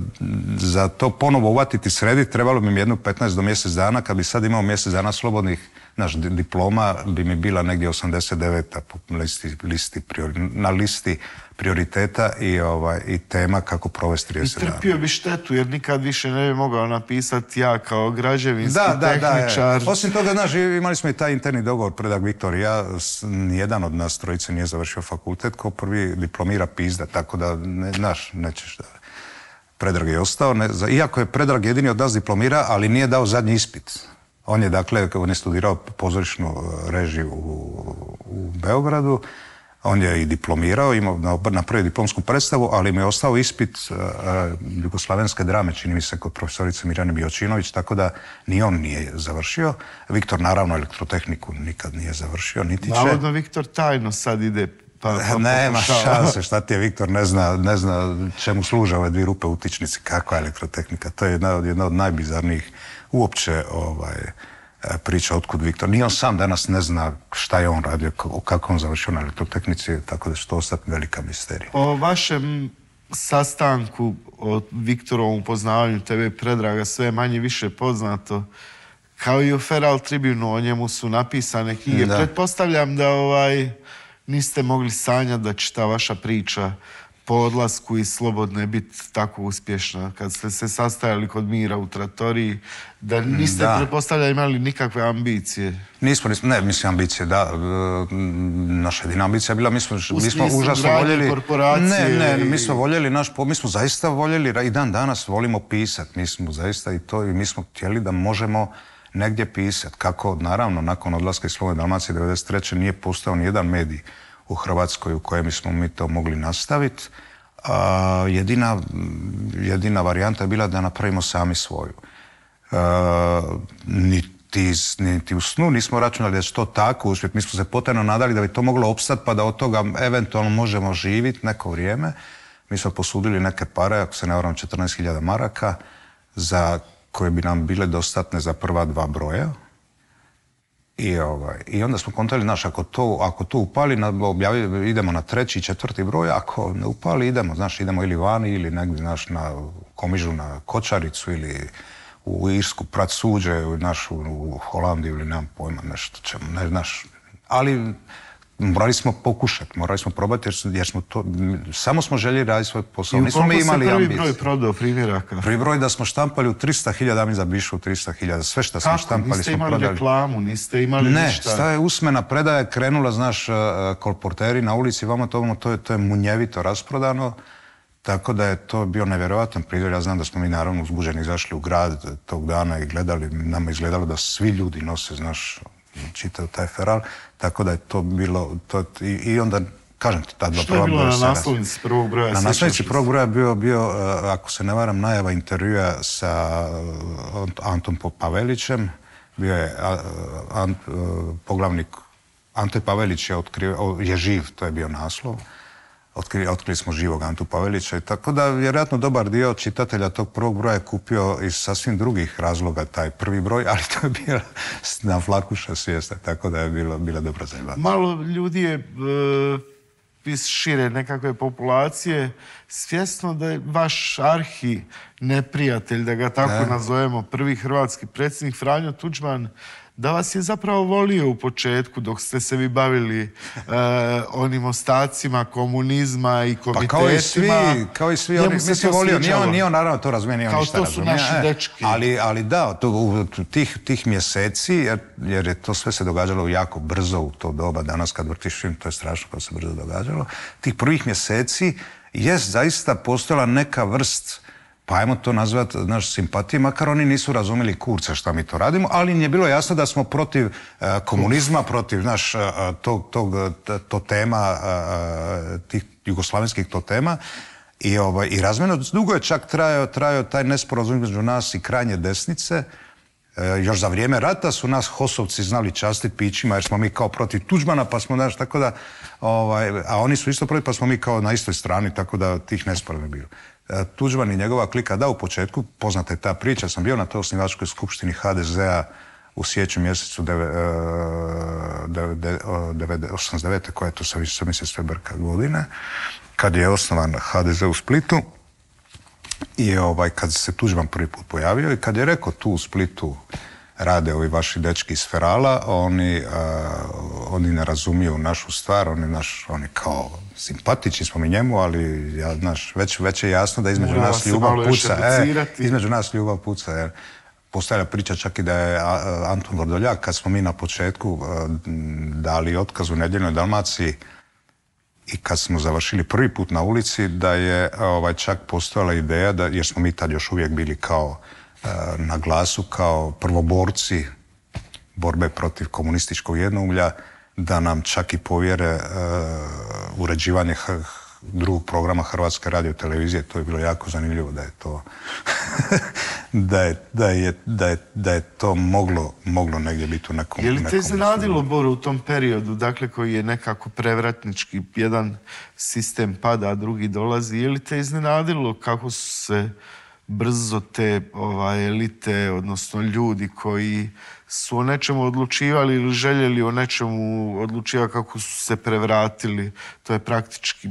za to ponovo uvatiti srediti trebalo bi mi jedno petnaest do mjesec dana, kad bi sad imao mjesec dana slobodnih naš diploma bi mi bila negdje osamdeset deveta po listi, listi priori, na listi prioriteta i, ovaj, i tema kako provesti trideset dana. I trpio bi štetu jer nikad više ne bi mogao napisati ja kao građevinski da, da, tehničar. Da, osim toga, znaš, imali smo i taj interni dogovor, predak Viktor i ja, nijedan od nas trojice nije završio fakultet, ko prvi diplomira pizda, tako da, ne, znaš, nećeš da... Predrag je ostao, ne, iako je Predrag jedini od nas diplomira, ali nije dao zadnji ispit. On je, dakle, on je studirao pozorišnu režiju u, u Beogradu, on je i diplomirao, imao napravio diplomsku predstavu, ali mi je ostao ispit uh, jugoslavenske drame, čini mi se, kod profesorice Mirjane Biočinović, tako da ni on nije završio. Viktor, naravno, elektrotehniku nikad nije završio, niti će. Navodno, Viktor tajno sad ide. Pa, pa nema šanse, šta ti je Viktor, ne zna, ne zna čemu služe ove dvije rupe u utičnici, kakva je elektrotehnika. To je jedna od, jedna od najbizarnijih uopće ovaj, priča otkud Viktor. Nije on sam danas ne zna šta je on radio, kako on završio na elektrotehnici, tako da će to ostati velika misterija. O vašem sastanku, o Viktorovom upoznavanju tebe Predraga, sve je manje više poznato. Kao i o Feral Tribunu, o njemu su napisane knjige. Da. Pretpostavljam da ovaj... niste mogli sanjati da će ta vaša priča po odlasku iz Slobodne biti tako uspješna. Kad ste se sastajali kod Mira u Tratoriji, da niste, da. pretpostavljali, imali nikakve ambicije. Nismo, nismo, ne, mislim ambicije, da. Naša jedina ambicija je bila, mi smo, mi smo užasno voljeli... Ne, ne, mi smo voljeli naš, mi smo zaista voljeli, i dan danas volimo pisati, mi smo zaista i to, i mi smo htjeli da možemo negdje pisati. Kako, naravno, nakon odlaska iz Slobodne Dalmacije devedeset treće nije postao ni jedan medij u Hrvatskoj u kojem smo mi to mogli nastaviti. A, jedina, jedina varijanta je bila da napravimo sami svoju. A, niti, niti u snu nismo računali da će to tako uspjeti. Mi smo se potajno nadali da bi to moglo opstati pa da od toga eventualno možemo živjeti neko vrijeme. Mi smo posudili neke pare, ako se ne varam, četrnaest hiljada maraka, za koje bi nam bile dostatne za prva dva broja. I, ovaj, i onda smo kontali, znaš, ako to, ako to upali, na, objavi, idemo na treći i četvrti broj, ako ne upali, idemo, znaš, idemo ili vani, ili negdje, znaš, na Komižu, na Kočaricu, ili u Irsku prat suđe, znaš, u, u Holandiju, ili nemam pojma, nešto ćemo, ne, znaš. Ali morali smo pokušati, morali smo probati jer, jer smo to, samo smo željeli raditi svoj posao. I u koliko se prvi ambici. Broj prodao primjeraka? Prvi broj da smo štampali u trista hiljada, mi za bišu u trista hiljada. Sve što smo štampali niste smo prodali. Niste imali reklamu, niste imali ne, ništa? Ne, staje usmena predaja, krenula, znaš, kolporteri na ulici, vamo to, to, je, to je munjevito rasprodano. Tako da je to bio nevjerojatan pridor. Ja znam da smo mi naravno uzbuđeni izašli u grad tog dana i gledali, nama izgledalo da svi ljudi nose, znaš, čitao taj Feral, tako da je to bilo, to, i, i onda, kažem ti, ta dva prva broja... Što je bilo na naslovnici prvog broja? Na naslovnici prvog broja bio, bio, ako se ne varam, najava intervjua sa Antom Pavelićem, bio je Ant, poglavnik, Ante Pavelić je, otkrio, je živ, to je bio naslov. Otkrili, otkrili smo živog Antu Pavelića i tako da vjerojatno dobar dio čitatelja tog prvog broja je kupio iz sasvim drugih razloga taj prvi broj, ali to je bila na flakuša svijesta, tako da je bilo, bila dobra zajebana. Malo ljudi je e, iz šire nekakve populacije svjesno da je vaš arhi neprijatelj, da ga tako ne. nazovemo, prvi hrvatski predsjednik Franjo Tuđman, da vas je zapravo volio u početku dok ste se vi bavili uh, onim ostacima komunizma i komitetima. Pa kao i svi, kao i svi, oni, mislim, volio, nije on, nije on naravno to razumije, nije on ništa razumije. Kao to su naši dečki. Ali, ali da, to, u tih, tih mjeseci, jer, jer je to sve se događalo jako brzo u to doba, danas kad vrtiš film, to je strašno kako se brzo događalo, tih prvih mjeseci je zaista postojala neka vrst, pa ajmo to nazvati naš simpatije, makar oni nisu razumjeli kurca šta mi to radimo, ali im je bilo jasno da smo protiv uh, komunizma, protiv naš, uh, tog, tog to tema, uh, tih jugoslavenskih to tema. I, ovaj, i razmjerno dugo je čak trajao, trajao taj nesporazum između nas i krajnje desnice. Uh, još za vrijeme rata su nas Hosovci znali častiti pićima jer smo mi kao protiv Tuđmana, pa smo naš, tako da, ovaj, a oni su isto protiv, pa smo mi kao na istoj strani, tako da tih nesporazuma bilo. Tuđman i njegova klika, da, u početku, poznata je ta priča, sam bio na toj osnivačkoj skupštini ha de zea u siječnju mjesecu osamdeset devete koja je to sa više mjesec Febrka godine, kad je osnovan ha de ze u Splitu i ovaj, kad se Tuđman prvi put pojavio i kad je rekao tu u Splitu rade ovi vaši dečki iz Ferala, oni, oni ne razumiju našu stvar, oni, naš, oni kao simpatični smo mi njemu, ali ja, znaš, već, već je jasno da između Mora nas ljubav puca. E, između nas ljubav puca, jer postavlja priča čak i da je Anton Vrdoljak, kad smo mi na početku dali otkaz u Nedjeljnoj Dalmaciji i kad smo završili prvi put na ulici, da je ovaj, čak postojala ideja, da, jer smo mi tad još uvijek bili kao na glasu, kao prvoborci borbe protiv komunističkog jednoumlja, da nam čak i povjere uh, uređivanje h- drugog programa Hrvatske radiotelevizije. To je bilo jako zanimljivo da je to da, je, da, je, da, je, da je to moglo, moglo negdje biti u nekom... Je li te iznenadilo, Boro, u tom periodu, dakle koji je nekako prevratnički, jedan sistem pada, a drugi dolazi, je li te iznenadilo kako su se brzo te ovaj, elite, odnosno ljudi koji su o nečemu odlučivali ili željeli o nečemu odlučivati, kako su se prevratili? To je praktički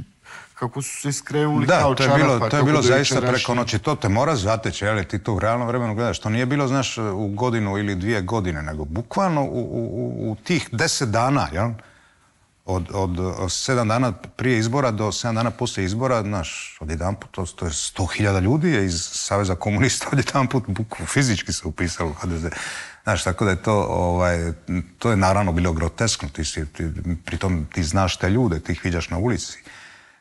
kako su se iskrenuli kao čarapa. Da, to je bilo, to je bilo zaista preko noći. To te mora zateći, jel, ti to u realnom vremenu gledaš. To nije bilo, znaš, u godinu ili dvije godine, nego bukvalno u, u, u tih deset dana, jel? Od, od, od sedam dana prije izbora do sedam dana poslije izbora, znaš, odjedanput, to, to je sto hiljada ljudi je iz Saveza komunista odjedanput bukvalno fizički se upisalo u H D Z. Znaš, tako da je to, ovaj, to je naravno bilo groteskno. Ti si, ti, pritom ti znaš te ljude, ti ih viđaš na ulici.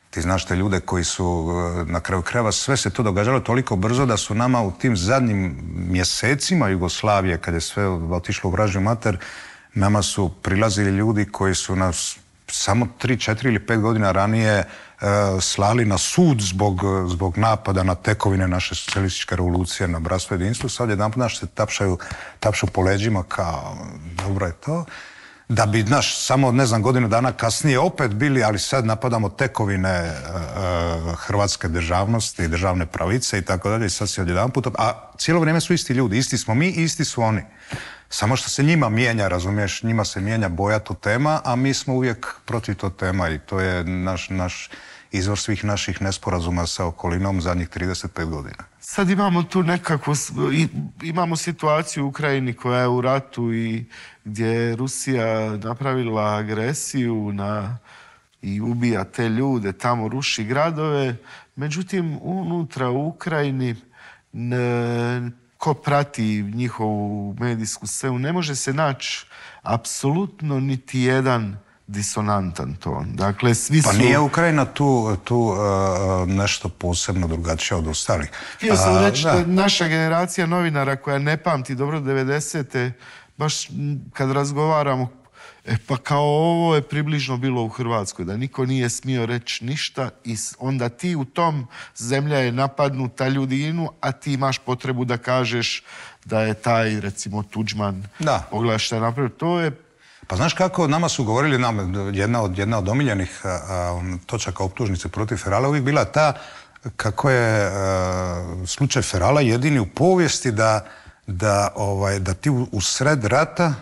Ti znaš te ljude koji su na kraju krajeva, sve se to događalo toliko brzo da su nama u tim zadnjim mjesecima Jugoslavije, kad je sve otišlo u vražju mater, nama su prilazili ljudi koji su nas samo tri, četiri ili pet godina ranije e, slali na sud zbog, zbog napada na tekovine naše socijalističke revolucije, na bratstvo i jedinstvo. Sad jedanput naš se tapšaju, tapšu po leđima kao dobro je to. Da bi, naš, samo, ne znam, godinu dana kasnije opet bili, ali sad napadamo tekovine e, e, hrvatske državnosti, državne pravice i tako dalje. I sad se odjedanput, a cijelo vrijeme su isti ljudi, isti smo mi, isti su oni. Samo što se njima mijenja, razumiješ, njima se mijenja boja to tema, a mi smo uvijek protiv to tema i to je naš, naš izvor svih naših nesporazuma sa okolinom zadnjih trideset pet godina. Sad imamo tu nekako, imamo situaciju u Ukrajini koja je u ratu i gdje je Rusija napravila agresiju na, i ubija te ljude, tamo ruši gradove. Međutim, unutra u Ukrajini ne, ko prati njihovu medijsku scenu, ne može se naći apsolutno niti jedan disonantan ton. Dakle, svi su... Pa nije Ukrajina tu, tu uh, nešto posebno drugačije od ostalih. Htio sam reći da naša generacija novinara koja ne pamti dobro devedesete, baš kad razgovaramo, e pa kao ovo je približno bilo u Hrvatskoj, da niko nije smio reći ništa i onda ti u tom zemlja je napadnuta, ljudi inu, a ti imaš potrebu da kažeš da je taj, recimo, Tuđman, da. Pogledaj šta je napravio. To je... Pa znaš kako, nama su govorili, nam, jedna od, jedna od omiljenih a, a, točaka optužnice protiv Ferala uvijek bila ta kako je a, slučaj Ferala jedini u povijesti da, da, ovaj, da ti u, u sred rata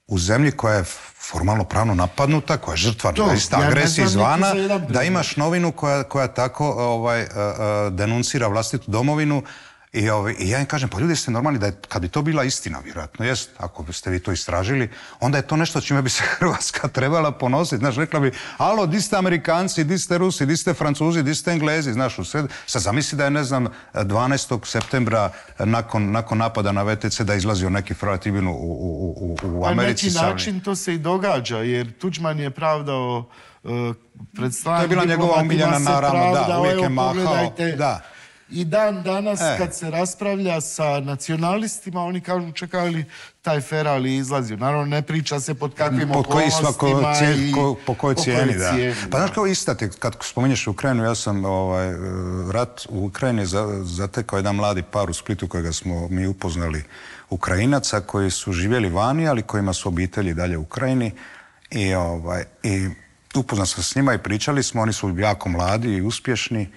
u zemlji koja je formalno pravno napadnuta, koja je žrtva ista ja agresije izvana, da imaš novinu koja, koja tako ovaj, a, a, denuncira vlastitu domovinu. I, ovaj, I ja im kažem, pa ljudi ste normalni da je, kad bi to bila istina, vjerojatno jest, ako ste vi to istražili, onda je to nešto čime bi se Hrvatska trebala ponositi. Znaš, rekla bi, alo, di ste Amerikanci, di ste Rusi, di ste Francuzi, di ste Englezi, znaš, u sred... Sad zamisli da je, ne znam, dvanaestog septembra nakon, nakon napada na V T C da je izlazio neki tribun u, u, u, u Americi. Na neki način to se i događa, jer Tuđman je pravdao uh, pred stranim diplomatima, to je bila njegova omiljena, naravno, da, uvijek je mahao, da. I dan danas e. kad se raspravlja sa nacionalistima, oni kažu čekaj li taj Feral izlazio. Naravno ne priča se pod kakvim po okolnostima koji, cijeli, i ko, po kojoj cijeni. Da. cijeni pa znaš kao ista ti, kad spominješ Ukrajinu, ja sam ovaj, rat u Ukrajini zatekao jedan mladi par u Splitu kojega smo mi upoznali, Ukrajinaca koji su živjeli vani, ali kojima su obitelji dalje u Ukrajini. I, ovaj, i upoznao sam s njima i pričali smo, oni su jako mladi i uspješni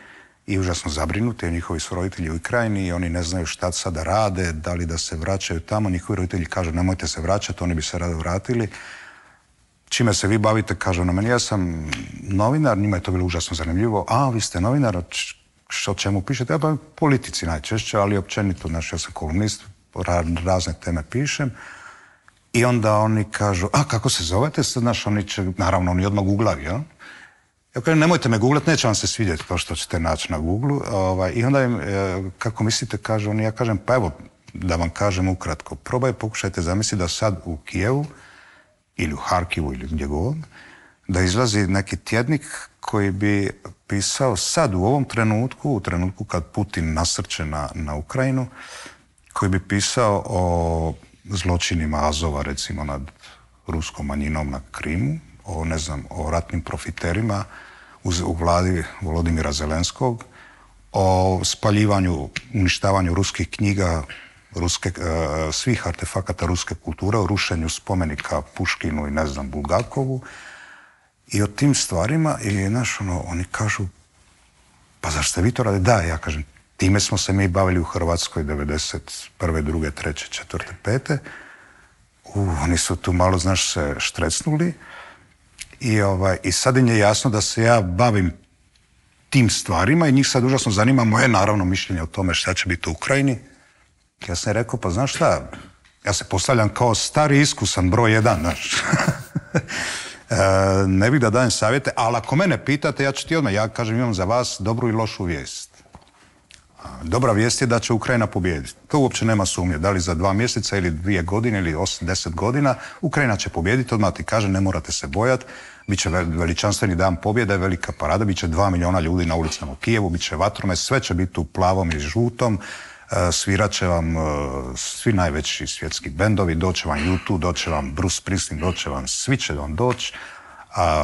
i užasno zabrinuti, njihovi su roditelji u Ukrajini i oni ne znaju šta sada rade, da li da se vraćaju tamo. Njihovi roditelji kažu nemojte se vraćati, oni bi se rado vratili. Čime se vi bavite, kažu na meni, ja sam novinar, njima je to bilo užasno zanimljivo. A, vi ste novinar, o čemu pišete? Ja pa politici najčešće, ali općenito, znači ja sam kolumnist, razne teme pišem. I onda oni kažu, a kako se zovete? Znaš, oni će, naravno, oni odmah googlaju, jel? Ja kažem, nemojte me googlat, neće vam se svidjeti to što ćete naći na Googlu. Ovaj, I onda im, kako mislite, kažu oni, ja kažem, pa evo, da vam kažem ukratko, probaj, pokušajte zamisliti da sad u Kijevu ili u Harkivu ili gdje god, da izlazi neki tjednik koji bi pisao sad u ovom trenutku, u trenutku kad Putin nasrće na, na Ukrajinu, koji bi pisao o zločinima Azova, recimo, nad ruskom manjinom na Krimu, o, ne znam, o ratnim profiterima u, u vladi Volodimira Zelenskog, o spaljivanju, uništavanju ruskih knjiga, ruske, uh, svih artefakata ruske kulture, o rušenju spomenika Puškinu i, ne znam, Bulgakovu. I o tim stvarima, i, znaš, ono, oni kažu, pa zašto ste vi to radili? Da, ja kažem, time smo se mi bavili u Hrvatskoj devedeset prve, druge, treće, četvrte, pete. U, oni su tu malo, znaš, se štrecnuli. I, ovaj, I sad im je jasno da se ja bavim tim stvarima i njih sad užasno zanima moje, naravno, mišljenje o tome šta će biti u Ukrajini. Ja sam rekao, pa znaš šta, ja se postavljam kao stari iskusan broj jedan, znaš. e, ne bih da dajem savjete, ali ako mene pitate, ja ću ti odmah, ja kažem, imam za vas dobru i lošu vijest. Dobra vijest je da će Ukrajina pobijediti. To uopće nema sumnje. Da li za dva mjeseca ili dvije godine ili osam, deset godina, Ukrajina će pobijediti. Odmah ti kaže, ne morate se bojati. Biće veličanstveni dan pobjede, velika parada, biće dva milijuna ljudi na ulicama u Kijevu, biće vatromet, sve će biti u plavom i žutom. Svirat će vam svi najveći svjetski bendovi, doće vam U dva, doće vam Bruce Springsteen, doće vam, svi će vam doći.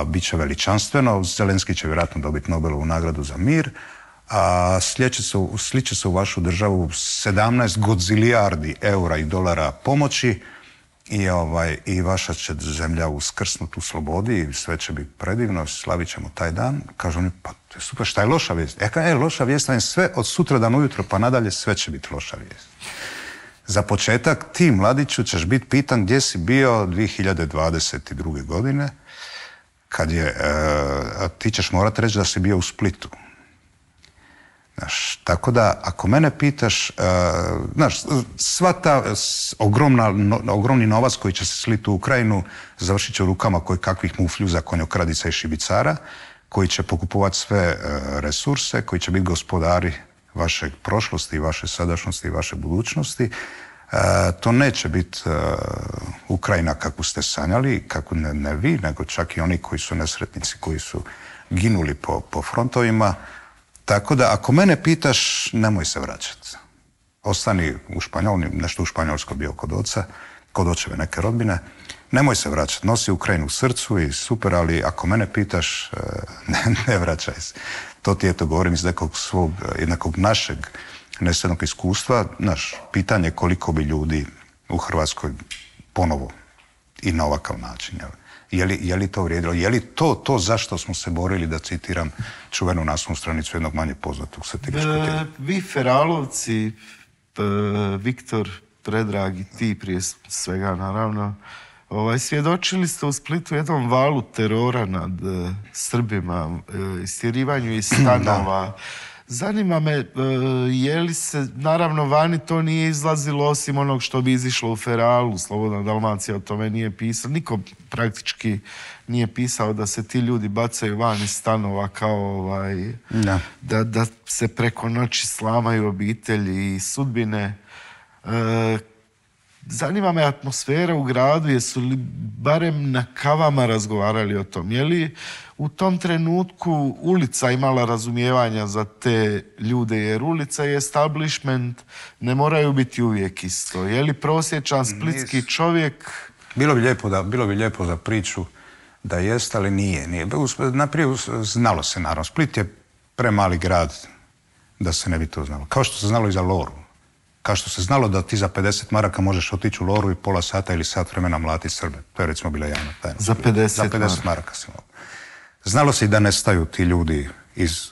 Biće veličanstveno. Zelenski će vjerojatno dobiti Nobelovu nagradu za mir. A sliče se u vašu državu sedamnaest godzilijardi eura i dolara pomoći i, ovaj, i vaša će zemlja uskrsnuti u slobodi i sve će biti predivno, slavit ćemo taj dan. Kažu oni, pa to je super, šta je loša vijest? Ja kažem, e, loša vijest, vam sve od sutra dan ujutro pa nadalje sve će biti loša vijest. Za početak, ti, mladiću, ćeš biti pitan gdje si bio dvije hiljade dvadeset druge. godine, kad je, e, ti ćeš morati reći da si bio u Splitu. Znaš, tako da, ako mene pitaš, uh, znaš, sva ta ogromna, no, ogromni novac koji će se sliti u Ukrajinu završit će u rukama koji kakvih mufljuza, konjokradica i šibicara, koji će pokupovati sve uh, resurse, koji će biti gospodari vaše prošlosti, vaše sadašnjosti i vaše budućnosti. Uh, to neće biti uh, Ukrajina kakvu ste sanjali, kako ne, ne vi, nego čak i oni koji su nesretnici, koji su ginuli po, po frontovima. Tako da, ako mene pitaš, nemoj se vraćati. Ostani u Španjolni, nešto u Španjolskoj bio kod oca, kod očeve neke rodbine. Nemoj se vraćati, nosi Ukrajinu u srcu i super, ali ako mene pitaš, ne, ne vraćaj se. To ti je to govorim iz nekog svog, jednakog našeg nesednog iskustva. Naš pitanje koliko bi ljudi u Hrvatskoj ponovo i na ovakav način, jel? Je li, je li to vrijedilo? Je li to to zašto smo se borili, da citiram čuvenu naslovnu stranicu jednog manje poznatog satiričkog tijela? Vi Feralovci, p, Viktor, Predrag i ti prije svega naravno, ovaj, svjedočili ste u Splitu jednom valu terora nad e, Srbima, e, istjerivanju iz stanova. Zanima me, e, je li se, naravno vani to nije izlazilo osim onog što bi izišlo u Feralu, Slobodna Dalmacija o tome nije pisao, niko praktički nije pisao da se ti ljudi bacaju van iz stanova kao ovaj, da. Da, da se preko noći slamaju obitelji i sudbine. E, zanima me atmosfera u gradu, jesu li barem na kavama razgovarali o tom, je li u tom trenutku ulica imala razumijevanja za te ljude, jer ulica i establishment ne moraju biti uvijek isto. Je li prosječan splitski čovjek... Bilo bi lijepo, da, bilo bi lijepo za priču da jest, ali nije. nije. Naprije znalo se, naravno. Split je premali grad da se ne bi to znalo. Kao što se znalo i za Loru. Kao što se znalo da ti za pedeset maraka možeš otići u Loru i pola sata ili sat vremena mlatiti Srbe. To je recimo bila javna tajna. Za pedeset, za pedeset maraka se mogu. Znalo se i da nestaju ti ljudi iz,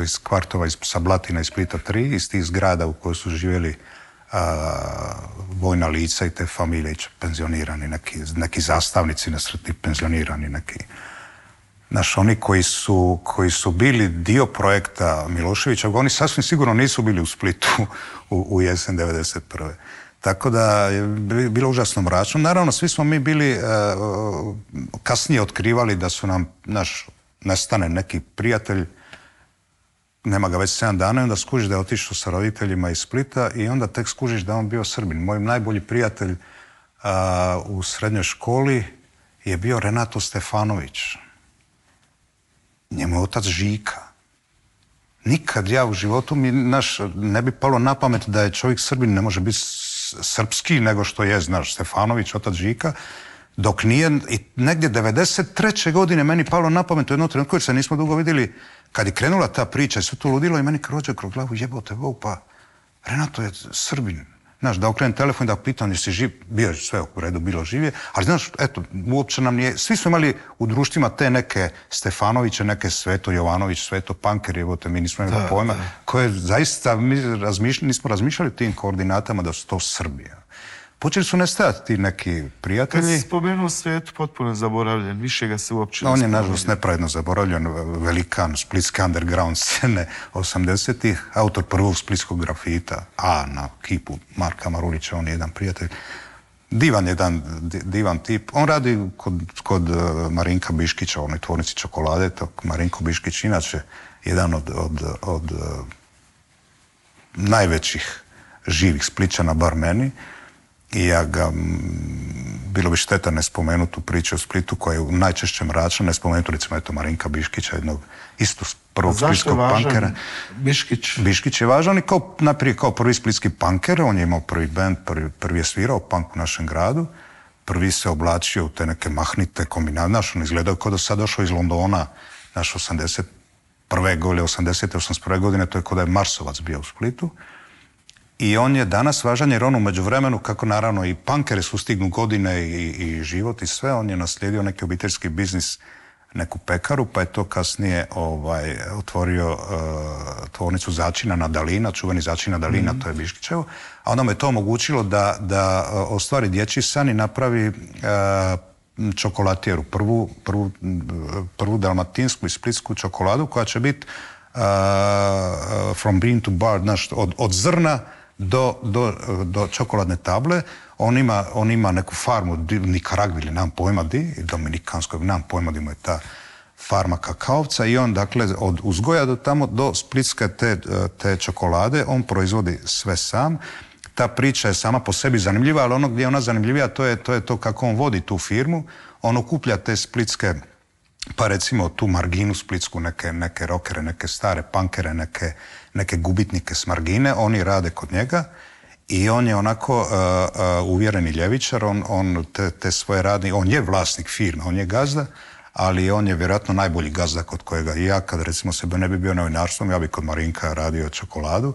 iz kvartova, iz, sa Blatina i Splita tri, iz tih zgrada u kojoj su živjeli a, vojna lica i te familije penzionirani, neki, neki zastavnici nesretni penzionirani, neki... Znaš, oni koji su, koji su bili dio projekta Miloševića, oni sasvim sigurno nisu bili u Splitu u, u jesen devedeset prve. Tako da je bilo užasno mračno. Naravno, svi smo mi bili uh, kasnije otkrivali da su nam, naš, nestane neki prijatelj, nema ga već sedam dana i onda skužiš da je otišao sa roditeljima iz Splita i onda tek skužiš da on bio Srbin. Moj najbolji prijatelj uh, u srednjoj školi je bio Renato Stefanović. Njemu je otac Žika. Nikad ja u životu mi naš, ne bi palo na pamet da je čovjek Srbin, ne može biti srpski nego što je, znaš, Stefanović, otac Žika, dok nije, i negdje devedeset treće godine meni palo na pamet u jednom trenutku, jer se nismo dugo vidjeli, kad je krenula ta priča i sve to ludilo i meni krođe kroz glavu, jebote Bog, pa Renato je Srbin. Znaš, da okrenem telefon i da pitam jesi živ, bio je sve u redu, bilo živje, ali znaš, eto, uopće nam nije, svi smo imali u društvima te neke Stefanoviće, neke Sveto Jovanović, Sveto Panker, jebote, mi nismo imali pojma, koje zaista mi razmišljali, nismo razmišljali tim koordinatama da su to Srbija. Počeli su nestajati ti neki prijatelji. Kad si spomenuo Svetu, potpuno zaboravljen, više ga se uopće ne On je, nažalost, nepravedno zaboravljen, velikan splitske underground scene osamdesetih, autor prvog splitskog grafita, a na kipu Marka Marulića, on je jedan prijatelj. Divan jedan, divan tip. On radi kod, kod Marinka Biškića, u onoj tvornici čokolade. Marinko Biškić, inače, jedan od, od, od najvećih živih Splićana, bar meni. I ja ga, bilo bi šteta ne spomenuti tu priču o Splitu koja je najčešće mračna, ne spomenuti recimo eto Marinka Biškića, jednog isto prvog splitskog punkera. Biškić? Biškić je važan i kao, najprije kao prvi splitski punker, on je imao prvi band, prvi, prvi je svirao punk u našem gradu, prvi se oblačio u te neke mahnite kombinate, naš on izgledao kao da sad došao iz Londona, naš osamdeset prve godine, osamdesete, osamdeset prve godine, to je kao da je Marsovac bio u Splitu. I on je danas važan jer on u međuvremenu, kako naravno i punkere sustignu godine i, i život i sve, on je naslijedio neki obiteljski biznis, neku pekaru, pa je to kasnije ovaj, otvorio uh, tvornicu začina na Dalina, čuveni začin na Dalina, mm-hmm. to je Biškićevo, a onda mu je to omogućilo da, da ostvari dječji san i napravi uh, čokolatijeru, prvu, prvu, prvu dalmatinsku i splitsku čokoladu koja će biti uh, from bean to bar, znaš, od, od zrna Do, do, do čokoladne table. On ima, on ima neku farmu Nikaragvi ili nemam pojma di, dominikanskog, nemam pojma di mu je ta farma kakaovca i on dakle od uzgoja do tamo do splitske te, te čokolade on proizvodi sve sam. Ta priča je sama po sebi zanimljiva, ali ono gdje je ona zanimljivija to je to, je to kako on vodi tu firmu. On okuplja te splitske, pa recimo tu marginu splitsku, neke, neke rokere, neke stare punkere, neke, neke gubitnike s margine, oni rade kod njega i on je onako uh, uh, uvjereni ljevičar, on, on te, te svoje radnike, on je vlasnik firme, on je gazda, ali on je vjerojatno najbolji gazda kod kojega i ja, kad recimo sebe ne bi bio novinarstvom, ja bi kod Marinka radio čokoladu,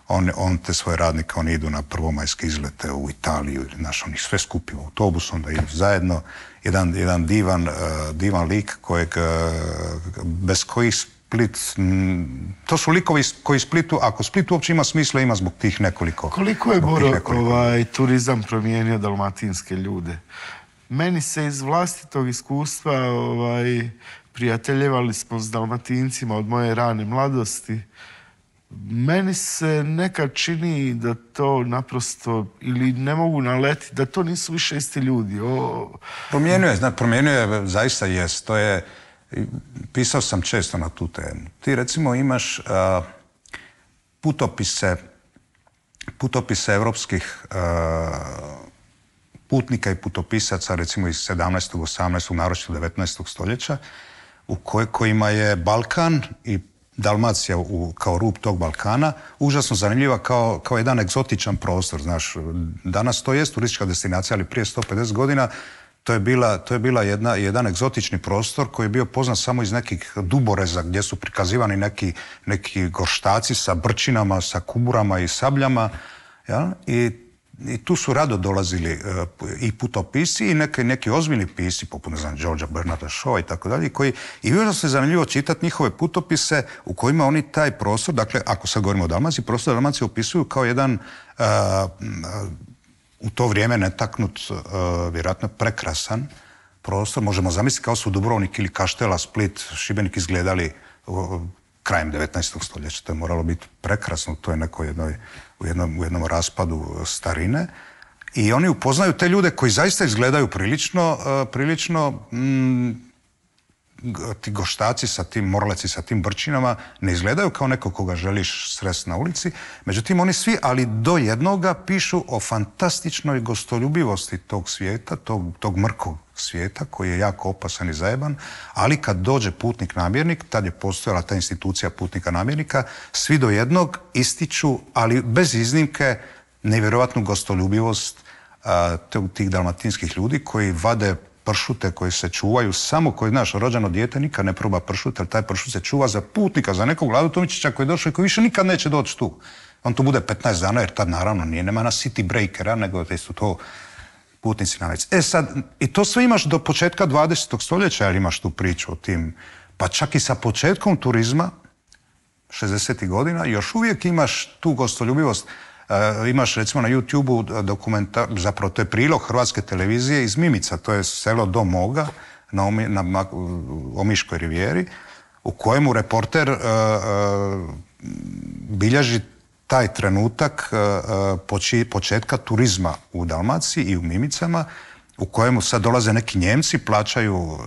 on, on te svoje radnike, oni idu na prvomajske izlete u Italiju, ili naš, oni sve skupi u autobus, onda idu zajedno, jedan, jedan divan, uh, divan lik kojeg, uh, bez kojih Split, m, to su likovi koji Splitu, ako Split uopće ima smisla, ima zbog tih nekoliko. Koliko je, Boro, ovaj, turizam promijenio dalmatinske ljude? Meni se iz vlastitog iskustva, ovaj, prijateljevali smo s Dalmatincima od moje rane mladosti. Meni se nekad čini da to naprosto, ili ne mogu naletiti, da to nisu više isti ljudi. O... Promijenio je, zna, promijenio je, zaista jest. To je, pisao sam često na tu temu. Ti recimo imaš uh, putopise, putopise evropskih uh, putnika i putopisaca, recimo iz sedamnaestog, osamnaestog, naročito devetnaestog stoljeća, u koj, kojima je Balkan i Dalmacija u, kao rub tog Balkana užasno zanimljiva kao, kao jedan egzotičan prostor. Znaš, danas to jest turistička destinacija, ali prije sto pedeset godina to je bila, to je bila jedna, jedan egzotični prostor koji je bio poznat samo iz nekih duboreza gdje su prikazivani neki, neki gorštaci sa brčinama, sa kuburama i sabljama. Ja? I, I tu su rado dolazili uh, i putopisci i neki, neki ozbiljni pisci, poput, ne znam, Georgea Bernarda Shaw i tako dalje, koji, i uvijek se zanimljivo čitati njihove putopise u kojima oni taj prostor, dakle, ako sad govorimo o Dalmaciji, prostor Dalmacije opisuju kao jedan uh, uh, u to vrijeme netaknut, uh, vjerojatno prekrasan prostor. Možemo zamisliti kao su Dubrovnik ili Kaštela, Split, Šibenik izgledali uh, krajem devetnaestog stoljeća. To je moralo biti prekrasno, to je neko jednoj, u, jednom, u jednom raspadu starine. I oni upoznaju te ljude koji zaista izgledaju prilično, uh, prilično mm, ti goštaci sa tim morleci, sa tim brčinama ne izgledaju kao neko koga želiš sresti na ulici. Međutim, oni svi, ali do jednoga, pišu o fantastičnoj gostoljubivosti tog svijeta, tog, tog mrkog svijeta koji je jako opasan i zajeban, ali kad dođe putnik namjernik, tad je postojala ta institucija putnika namjernika, svi do jednog ističu, ali bez iznimke, nevjerojatnu gostoljubivost uh, tih dalmatinskih ljudi koji vade pršute koji se čuvaju, samo koji, znaš, rođeno dijete nikad ne proba pršut, ali taj pršut se čuva za putnika, za nekog Vladu Tomičića koji je došao i koji više nikad neće doći tu. On tu bude petnaest dana, jer tad naravno nije, nema na city breakera, nego da su to putnici na već. E sad, i to sve imaš do početka dvadesetog stoljeća, jer imaš tu priču o tim, pa čak i sa početkom turizma, šezdesetih godina, još uvijek imaš tu gostoljubivost. Uh, imaš recimo na YouTube-u dokumentar, zapravo to je prilog Hrvatske televizije iz Mimica, to je selo do Moga na, Omi, na Omiškoj rivijeri, u kojemu reporter uh, uh, bilježi taj trenutak uh, poči, početka turizma u Dalmaciji i u Mimicama, u kojemu sad dolaze neki Njemci, plaćaju uh,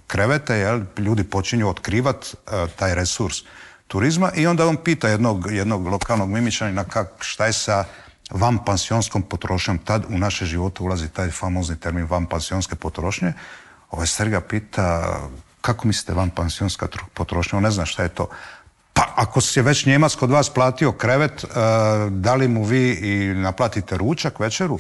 krevete, jel? Ljudi počinju otkrivati uh, taj resurs turizma i onda on pita jednog, jednog lokalnog Mimičanina kak, šta je sa vanpansionskom potrošnjom. Tad u naše živote ulazi taj famozni termin vanpansionske potrošnje. Ovaj stari ga pita kako mislite vanpansionska potrošnja, on ne zna šta je to. Pa ako si je već Njemac kod vas platio krevet, uh, da li mu vi i naplatite ručak, večeru?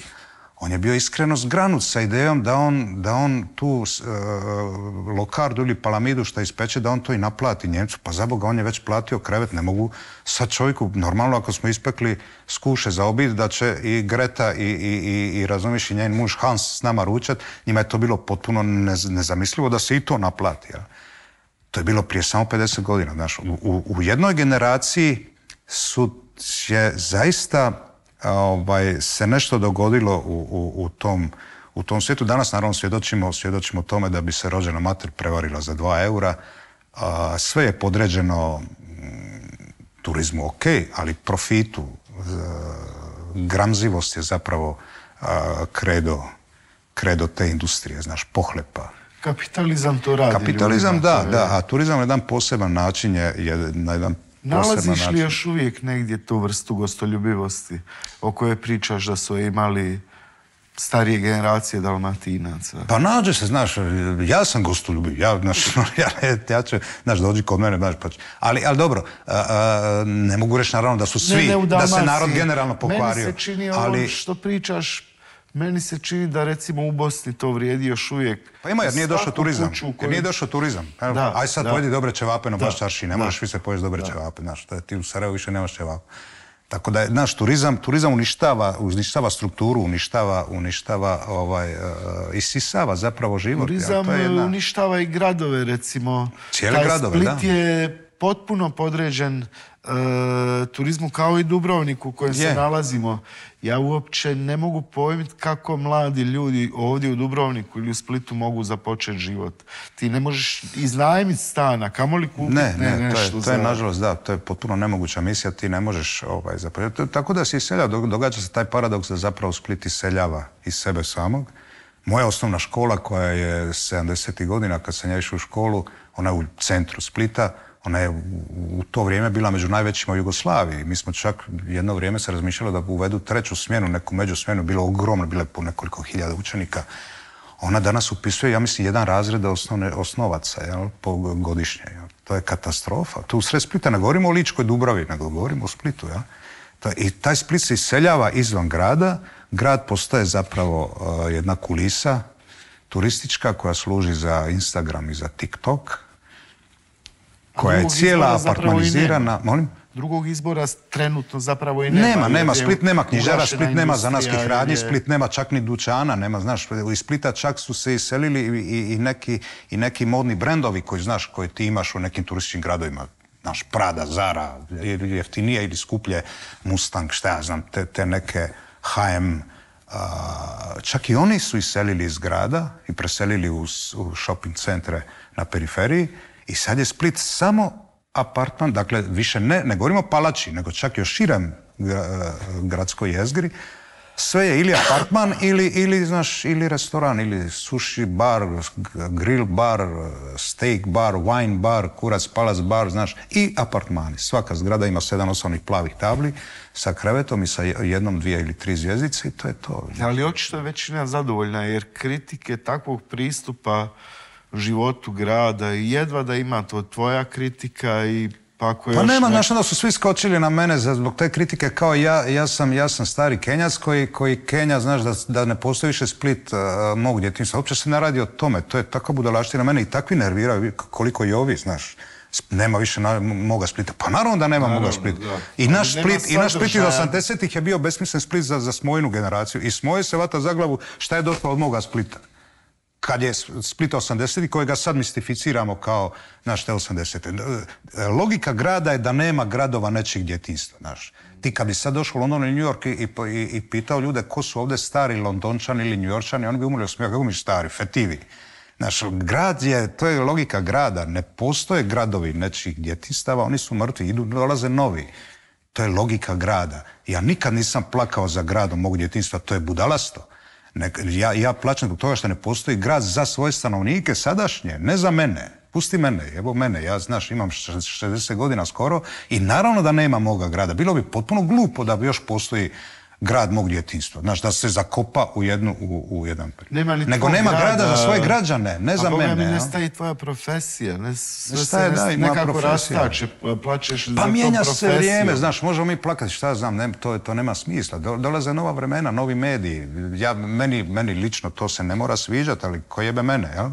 On je bio iskreno zgranut sa idejom da on, da on tu uh, lokardu ili palamidu što ispeče, da on to i naplati Njemcu. Pa za Boga, on je već platio krevet, ne mogu sad čovjeku, normalno ako smo ispekli skuše za obid, da će i Greta i, i, i, i razumiješ i njen muž Hans s nama ručat, njima je to bilo potpuno nez, nezamislivo da se i to naplati. Ja. To je bilo prije samo pedeset godina. Znaš, u, u, u jednoj generaciji su je zaista Ovaj, se nešto dogodilo u, u, u, tom, u tom svijetu. Danas naravno svjedočimo, svjedočimo tome da bi se rođena mater prevarila za dva eura. A, sve je podređeno m, turizmu, ok, ali profitu. A, gramzivost je zapravo a, kredo, kredo te industrije, znaš, pohlepa. Kapitalizam to radi. Kapitalizam, ljudima, da, je... da, a turizam na jedan poseban način je, je na jedan Nalaziš li još uvijek negdje tu vrstu gostoljubivosti o kojoj pričaš da su imali starije generacije Dalmatinaca? Pa nađe se, znaš, ja sam gostoljubiv, ja, znaš, ja, ja ću, znaš, dođi kod mene, znaš, pa ću. Ali, ali dobro, a, a, ne mogu reći naravno da su svi, ne, ne da se narod generalno pokvario. Meni se čini ovo ali... što pričaš, meni se čini da recimo u Bosni to vrijedi još uvijek. Pa ima, jer nije došao turizam. Koji... Jer nije došao turizam. Da, aj sad da. pojedi dobre ćevape na baš čarši, ne da. možeš više pojesti dobre da. ćevape, znaš, ti u Sarajevu više nemaš ćevape. Tako da je, znaš, turizam, turizam uništava, uništava strukturu, uništava, uništava, ovaj, uh, isisava zapravo život. Turizam ja, to je jedna... uništava i gradove, recimo. Cijele Taj gradove, Split da. je potpuno podređen uh, turizmu kao i Dubrovnik u kojem je. se nalazimo. Ja uopće ne mogu pojmiti kako mladi ljudi ovdje u Dubrovniku ili u Splitu mogu započeti život. Ti ne možeš iznajmiti stana, kamoli kupiti ne, ne, ne, to je, nešto to je za... nažalost, da, to je potpuno nemoguća misija, ti ne možeš ovaj, započeti. Tako da se iselja, događa se taj paradoks da zapravo Split iseljava iz sebe samog. Moja osnovna škola koja je sedamdesetih godina, kad sam ja išao u školu, ona je u centru Splita, ona je u to vrijeme bila među najvećima u Jugoslaviji. Mi smo čak jedno vrijeme se razmišljali da uvedu treću smjenu, neku međusmjenu, bilo ogromno, bilo je po nekoliko hiljada učenika. Ona danas upisuje, ja mislim, jedan razred osnovne, osnovaca, jel, po godišnje. Jel. To je katastrofa. Tu u sred Splita ne govorimo o Ličkoj Dubravi, nego govorimo o Splitu. Jel. I taj Split se iseljava izvan grada. Grad postaje zapravo uh, jedna kulisa turistička koja služi za Instagram i za TikTok, koja je cijela apartmanizirana. Molim? Drugog izbora trenutno zapravo i nema. Nema, nema. Split nema knjižara, Split nema zanatskih radnji, Split nema čak ni dućana, nema, znaš, iz Splita čak su se iselili i, i, neki, i neki modni brendovi koji, znaš, koji ti imaš u nekim turističkim gradovima. Znaš, Prada, Zara, jeftinije ili skuplje, Mustang, šta ja znam, te, te neke H M. Uh, čak i oni su iselili iz grada i preselili u, u shopping centre na periferiji. I sad je Split samo apartman, dakle više ne, ne govorimo o palači, nego čak i o širem gradskoj jezgri, sve je ili apartman ili, ili, znaš, ili restoran, ili sushi bar, grill bar, steak bar, wine bar, kurac palac bar, znaš, i apartmani. Svaka zgrada ima sedam osnovnih plavih tabli sa krevetom i sa jednom, dvije ili tri zvjezdice i to je to. Ali očito je većina zadovoljna jer kritike takvog pristupa životu grada i jedva da ima to tvoja kritika i pa ako Pa nema, nek... znaš, onda su svi skočili na mene zbog te kritike kao ja, ja sam, ja sam stari Kenjac koji, koji Kenja, znaš, da, da ne postoji više Split uh, mog djetinjstva. Uopće se ne radi o tome, to je takva budalaština mene i takvi nerviraju koliko i ovi, znaš. Nema više na, moga Splita. Pa naravno da nema naravno, moga Splita. Da. I naš Split, i naš Split iz osamdesetih je bio besmislen Split za, za smojinu generaciju. I smoje se vata za glavu šta je došlo od moga Splita. Kad je Split osamdesetih, kojega sad mistificiramo kao naš te osamdesete. Logika grada je da nema gradova nečijeg djetinjstva, znaš. Ti kad bi sad došao u London ili New York i, i, i pitao ljude ko su ovdje stari Londončani ili New Yorkčani, oni bi umrli od smijeha, kako mi stari, fetivi. Znaš, grad je, to je logika grada, ne postoje gradovi nečijih djetinjstava, oni su mrtvi, idu, dolaze novi. To je logika grada. Ja nikad nisam plakao za gradom mog djetinjstva, to je budalasto. Ne, ja, ja plaćam zbog toga što ne postoji grad za svoje stanovnike sadašnje, ne za mene. Pusti mene, evo mene, ja znaš imam šezdeset godina skoro i naravno da nema moga grada. Bilo bi potpuno glupo da bi još postoji grad mog djetinjstva. Znaš, da se zakopa u, jednu, u, u jedan period. Nego nema grada, grada za svoje građane, ne za mene. A Boga mi ne staje tvoja profesija. Ne, sve ne staje, se ne, da, nekako rastače, plaćeš pa za to mijenja profesiju. Se vrijeme, znaš, možemo mi plakati, šta znam, ne, to, to nema smisla. Dolaze nova vremena, novi mediji. Ja, meni, meni lično to se ne mora sviđati, ali ko jebe mene, jel?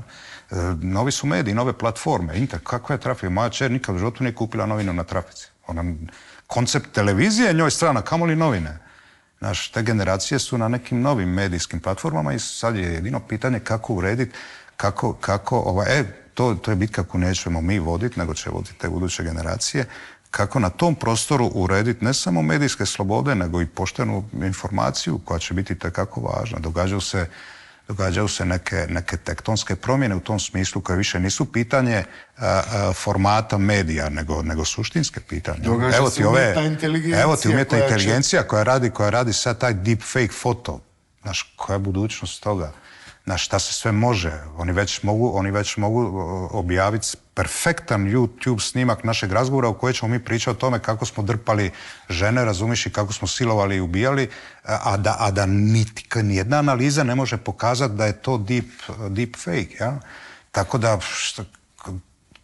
Novi su mediji, nove platforme. Inter, kakva je trafika? Moja čer nikad u životu nije kupila novinu na trafici. Ona, koncept televizije njoj strana, kamoli novine. Znaš, te generacije su na nekim novim medijskim platformama i sad je jedino pitanje kako urediti, kako, kako, ovaj, e, to, to je bitka koju nećemo mi voditi, nego će voditi te buduće generacije, kako na tom prostoru urediti ne samo medijske slobode, nego i poštenu informaciju koja će biti tekako važna. Događaju se Događaju se neke, neke tektonske promjene u tom smislu koje više nisu pitanje a, a, formata medija, nego, nego suštinske pitanje. Događa evo se ti ove, inteligencija. Evo ti umjetna koja inteligencija će... koja radi, koja radi sad taj deep fake foto. Znaš, koja je budućnost toga? Znaš, šta se sve može? Oni već mogu, oni već mogu objaviti perfektan YouTube snimak našeg razgovora u kojoj ćemo mi pričati o tome kako smo drpali žene, razumiš, i kako smo silovali i ubijali, a da, a da niti, nijedna analiza ne može pokazati da je to deep, deep fake, ja? Tako da, šta,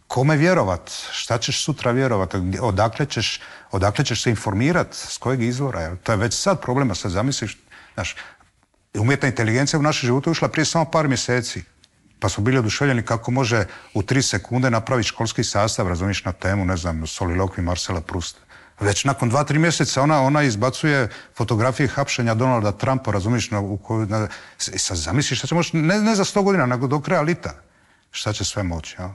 kome vjerovat? Šta ćeš sutra vjerovat? Odakle ćeš, odakle ćeš se informirat? S kojeg izvora? Ja? To je već sad problema, sad zamisliš, znaš, umjetna inteligencija u naše živote ušla prije samo par mjeseci. Pa smo bili oduševljeni kako može u tri sekunde napraviti školski sastav, razumiješ, na temu, ne znam, Solilokvi Marcela Prusta. Već nakon dva, tri mjeseca ona, ona izbacuje fotografije hapšenja Donalda Trumpa, razumiješ, na, u koju, na, sad zamisliš šta će moći, ne, ne za sto godina, nego do kraja lita. Šta će sve moći, ja?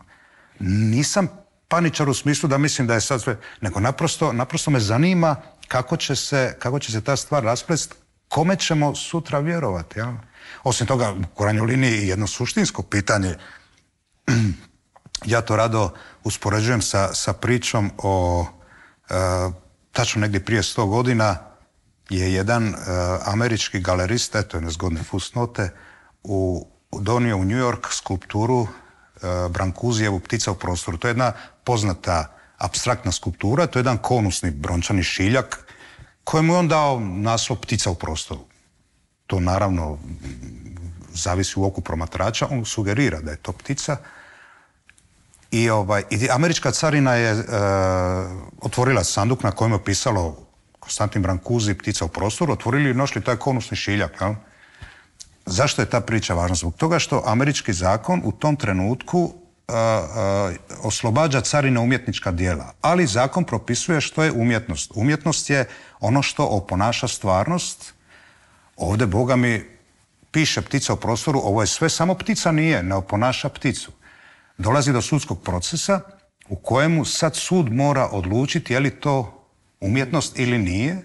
Nisam paničar u smislu da mislim da je sad sve, nego naprosto, naprosto me zanima kako će se, kako će se ta stvar rasplesti, kome ćemo sutra vjerovati, ja? Osim toga, u krajnjoj liniji jedno suštinsko pitanje, ja to rado uspoređujem sa, sa pričom o, e, tačno negdje prije sto godina, je jedan e, američki galerista, eto je nezgodne fusnote, u, donio u New York skulpturu e, Brancusijevu Ptica u prostoru. To je jedna poznata apstraktna skulptura, to je jedan konusni brončani šiljak, kojemu je on dao naslov Ptica u prostoru. To naravno zavisi u oku promatrača, on sugerira da je to ptica. I, ovaj, i američka carina je e, otvorila sanduk na kojem je pisalo Konstantin Brancusi, Ptica u prostoru, otvorili i našli taj konusni šiljak. Jel? Zašto je ta priča važna? Zbog toga što američki zakon u tom trenutku e, e, oslobađa carine umjetnička djela, ali zakon propisuje što je umjetnost. Umjetnost je ono što oponaša stvarnost. Ovdje, Boga mi, piše Ptica u prostoru, ovo je sve, samo ptica nije, ne oponaša pticu. Dolazi do sudskog procesa u kojemu sad sud mora odlučiti je li to umjetnost ili nije,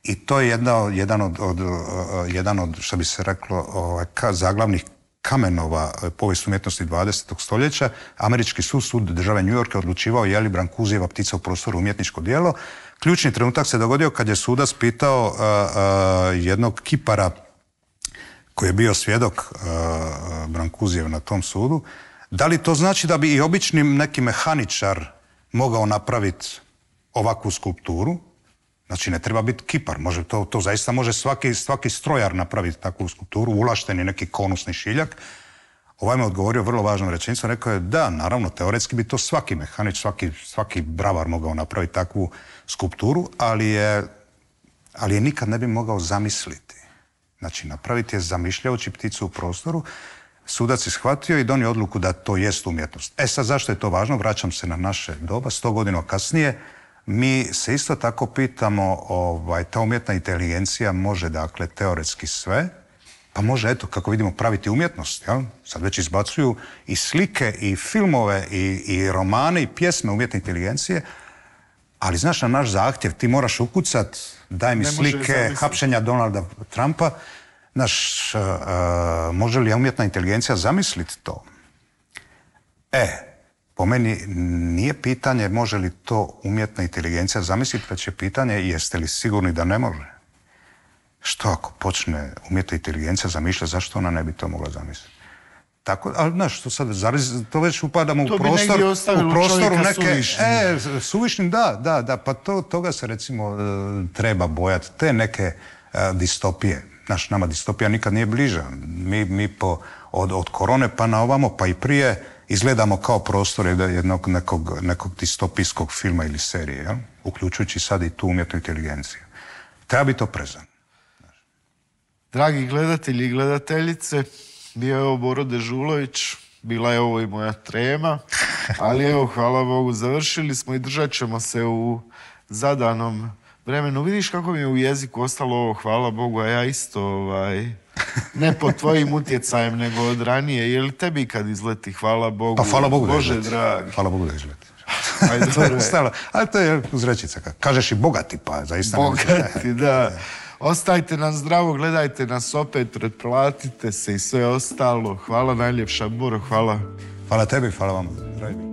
i to je jedna, jedan, od, od, jedan od, što bi se reklo, ovaj, ka, zaglavnih Kamenova povijest umjetnosti dvadesetog stoljeća, američki sud, sud države New York je odlučivao je li Brancusijeva Ptica u prostoru umjetničko djelo. Ključni trenutak se dogodio kad je sudac pitao uh, uh, jednog kipara koji je bio svjedok uh, Brancusijev na tom sudu, da li to znači da bi i obični neki mehaničar mogao napraviti ovakvu skulpturu? Znači, ne treba biti kipar, može, to, to zaista može svaki, svaki strojar napraviti takvu skulpturu, ulašteni neki konusni šiljak. Ovaj me odgovorio vrlo važnom rečenicom, rekao je da, naravno, teoretski bi to svaki mehanič, svaki, svaki bravar mogao napraviti takvu skulpturu, ali je, ali je nikad ne bi mogao zamisliti. Znači, napraviti je zamišljajući pticu u prostoru. Sudac je shvatio i donio odluku da to jest umjetnost. E sad, zašto je to važno? Vraćam se na naše doba, sto godina kasnije. Mi se isto tako pitamo, ovaj, ta umjetna inteligencija može, dakle, teoretski sve, pa može, eto, kako vidimo, praviti umjetnost, jel? Sad već izbacuju i slike, i filmove, i, i romane, i pjesme umjetne inteligencije, ali, znaš, na naš zahtjev ti moraš ukucat, daj mi slike hapšenja Donalda Trumpa. Znaš, uh, uh, može li umjetna inteligencija zamisliti to? E, po meni nije pitanje može li to umjetna inteligencija zamisliti, već je pitanje jeste li sigurni da ne može. Što ako počne umjetna inteligencija zamišljati, zašto ona ne bi to mogla zamisliti? Tako, ali znaš, to sad, to već upadamo to u prostor, u prostoru neke... suvišnim. E, suvišnim, da, da, da, pa to, toga se recimo treba bojati, te neke uh, distopije. Znaš, nama distopija nikad nije bliža. Mi, mi po, od, od korone pa na ovamo, pa i prije, izgledamo kao prostor jednog nekog, nekog distopijskog filma ili serije, ja? Uključujući sad i tu umjetnu inteligenciju. Treba biti oprezan. Dragi gledatelji i gledateljice, bio je ovo Boro Dežulović, bila je ovo i moja trema, ali evo, hvala Bogu, završili smo i držat ćemo se u zadanom vremenu. Vidiš kako mi je u jeziku ostalo ovo, hvala Bogu, a ja isto, ovaj, ne pod tvojim utjecajem, nego od ranije. Je li tebi kad izleti, hvala Bogu? Pa hvala Bogu da Bože izleti. dragi. Hvala Bogu da izleti. Ajde, to je ostalo. Ali to je uzrečica. Kažeš i bogati, pa zaista... Bogati, da. Ostajte nam zdravo, gledajte nas opet, pretplatite se i sve ostalo. Hvala najljepša, Boro, hvala. Hvala tebi, hvala vam. Zdravim.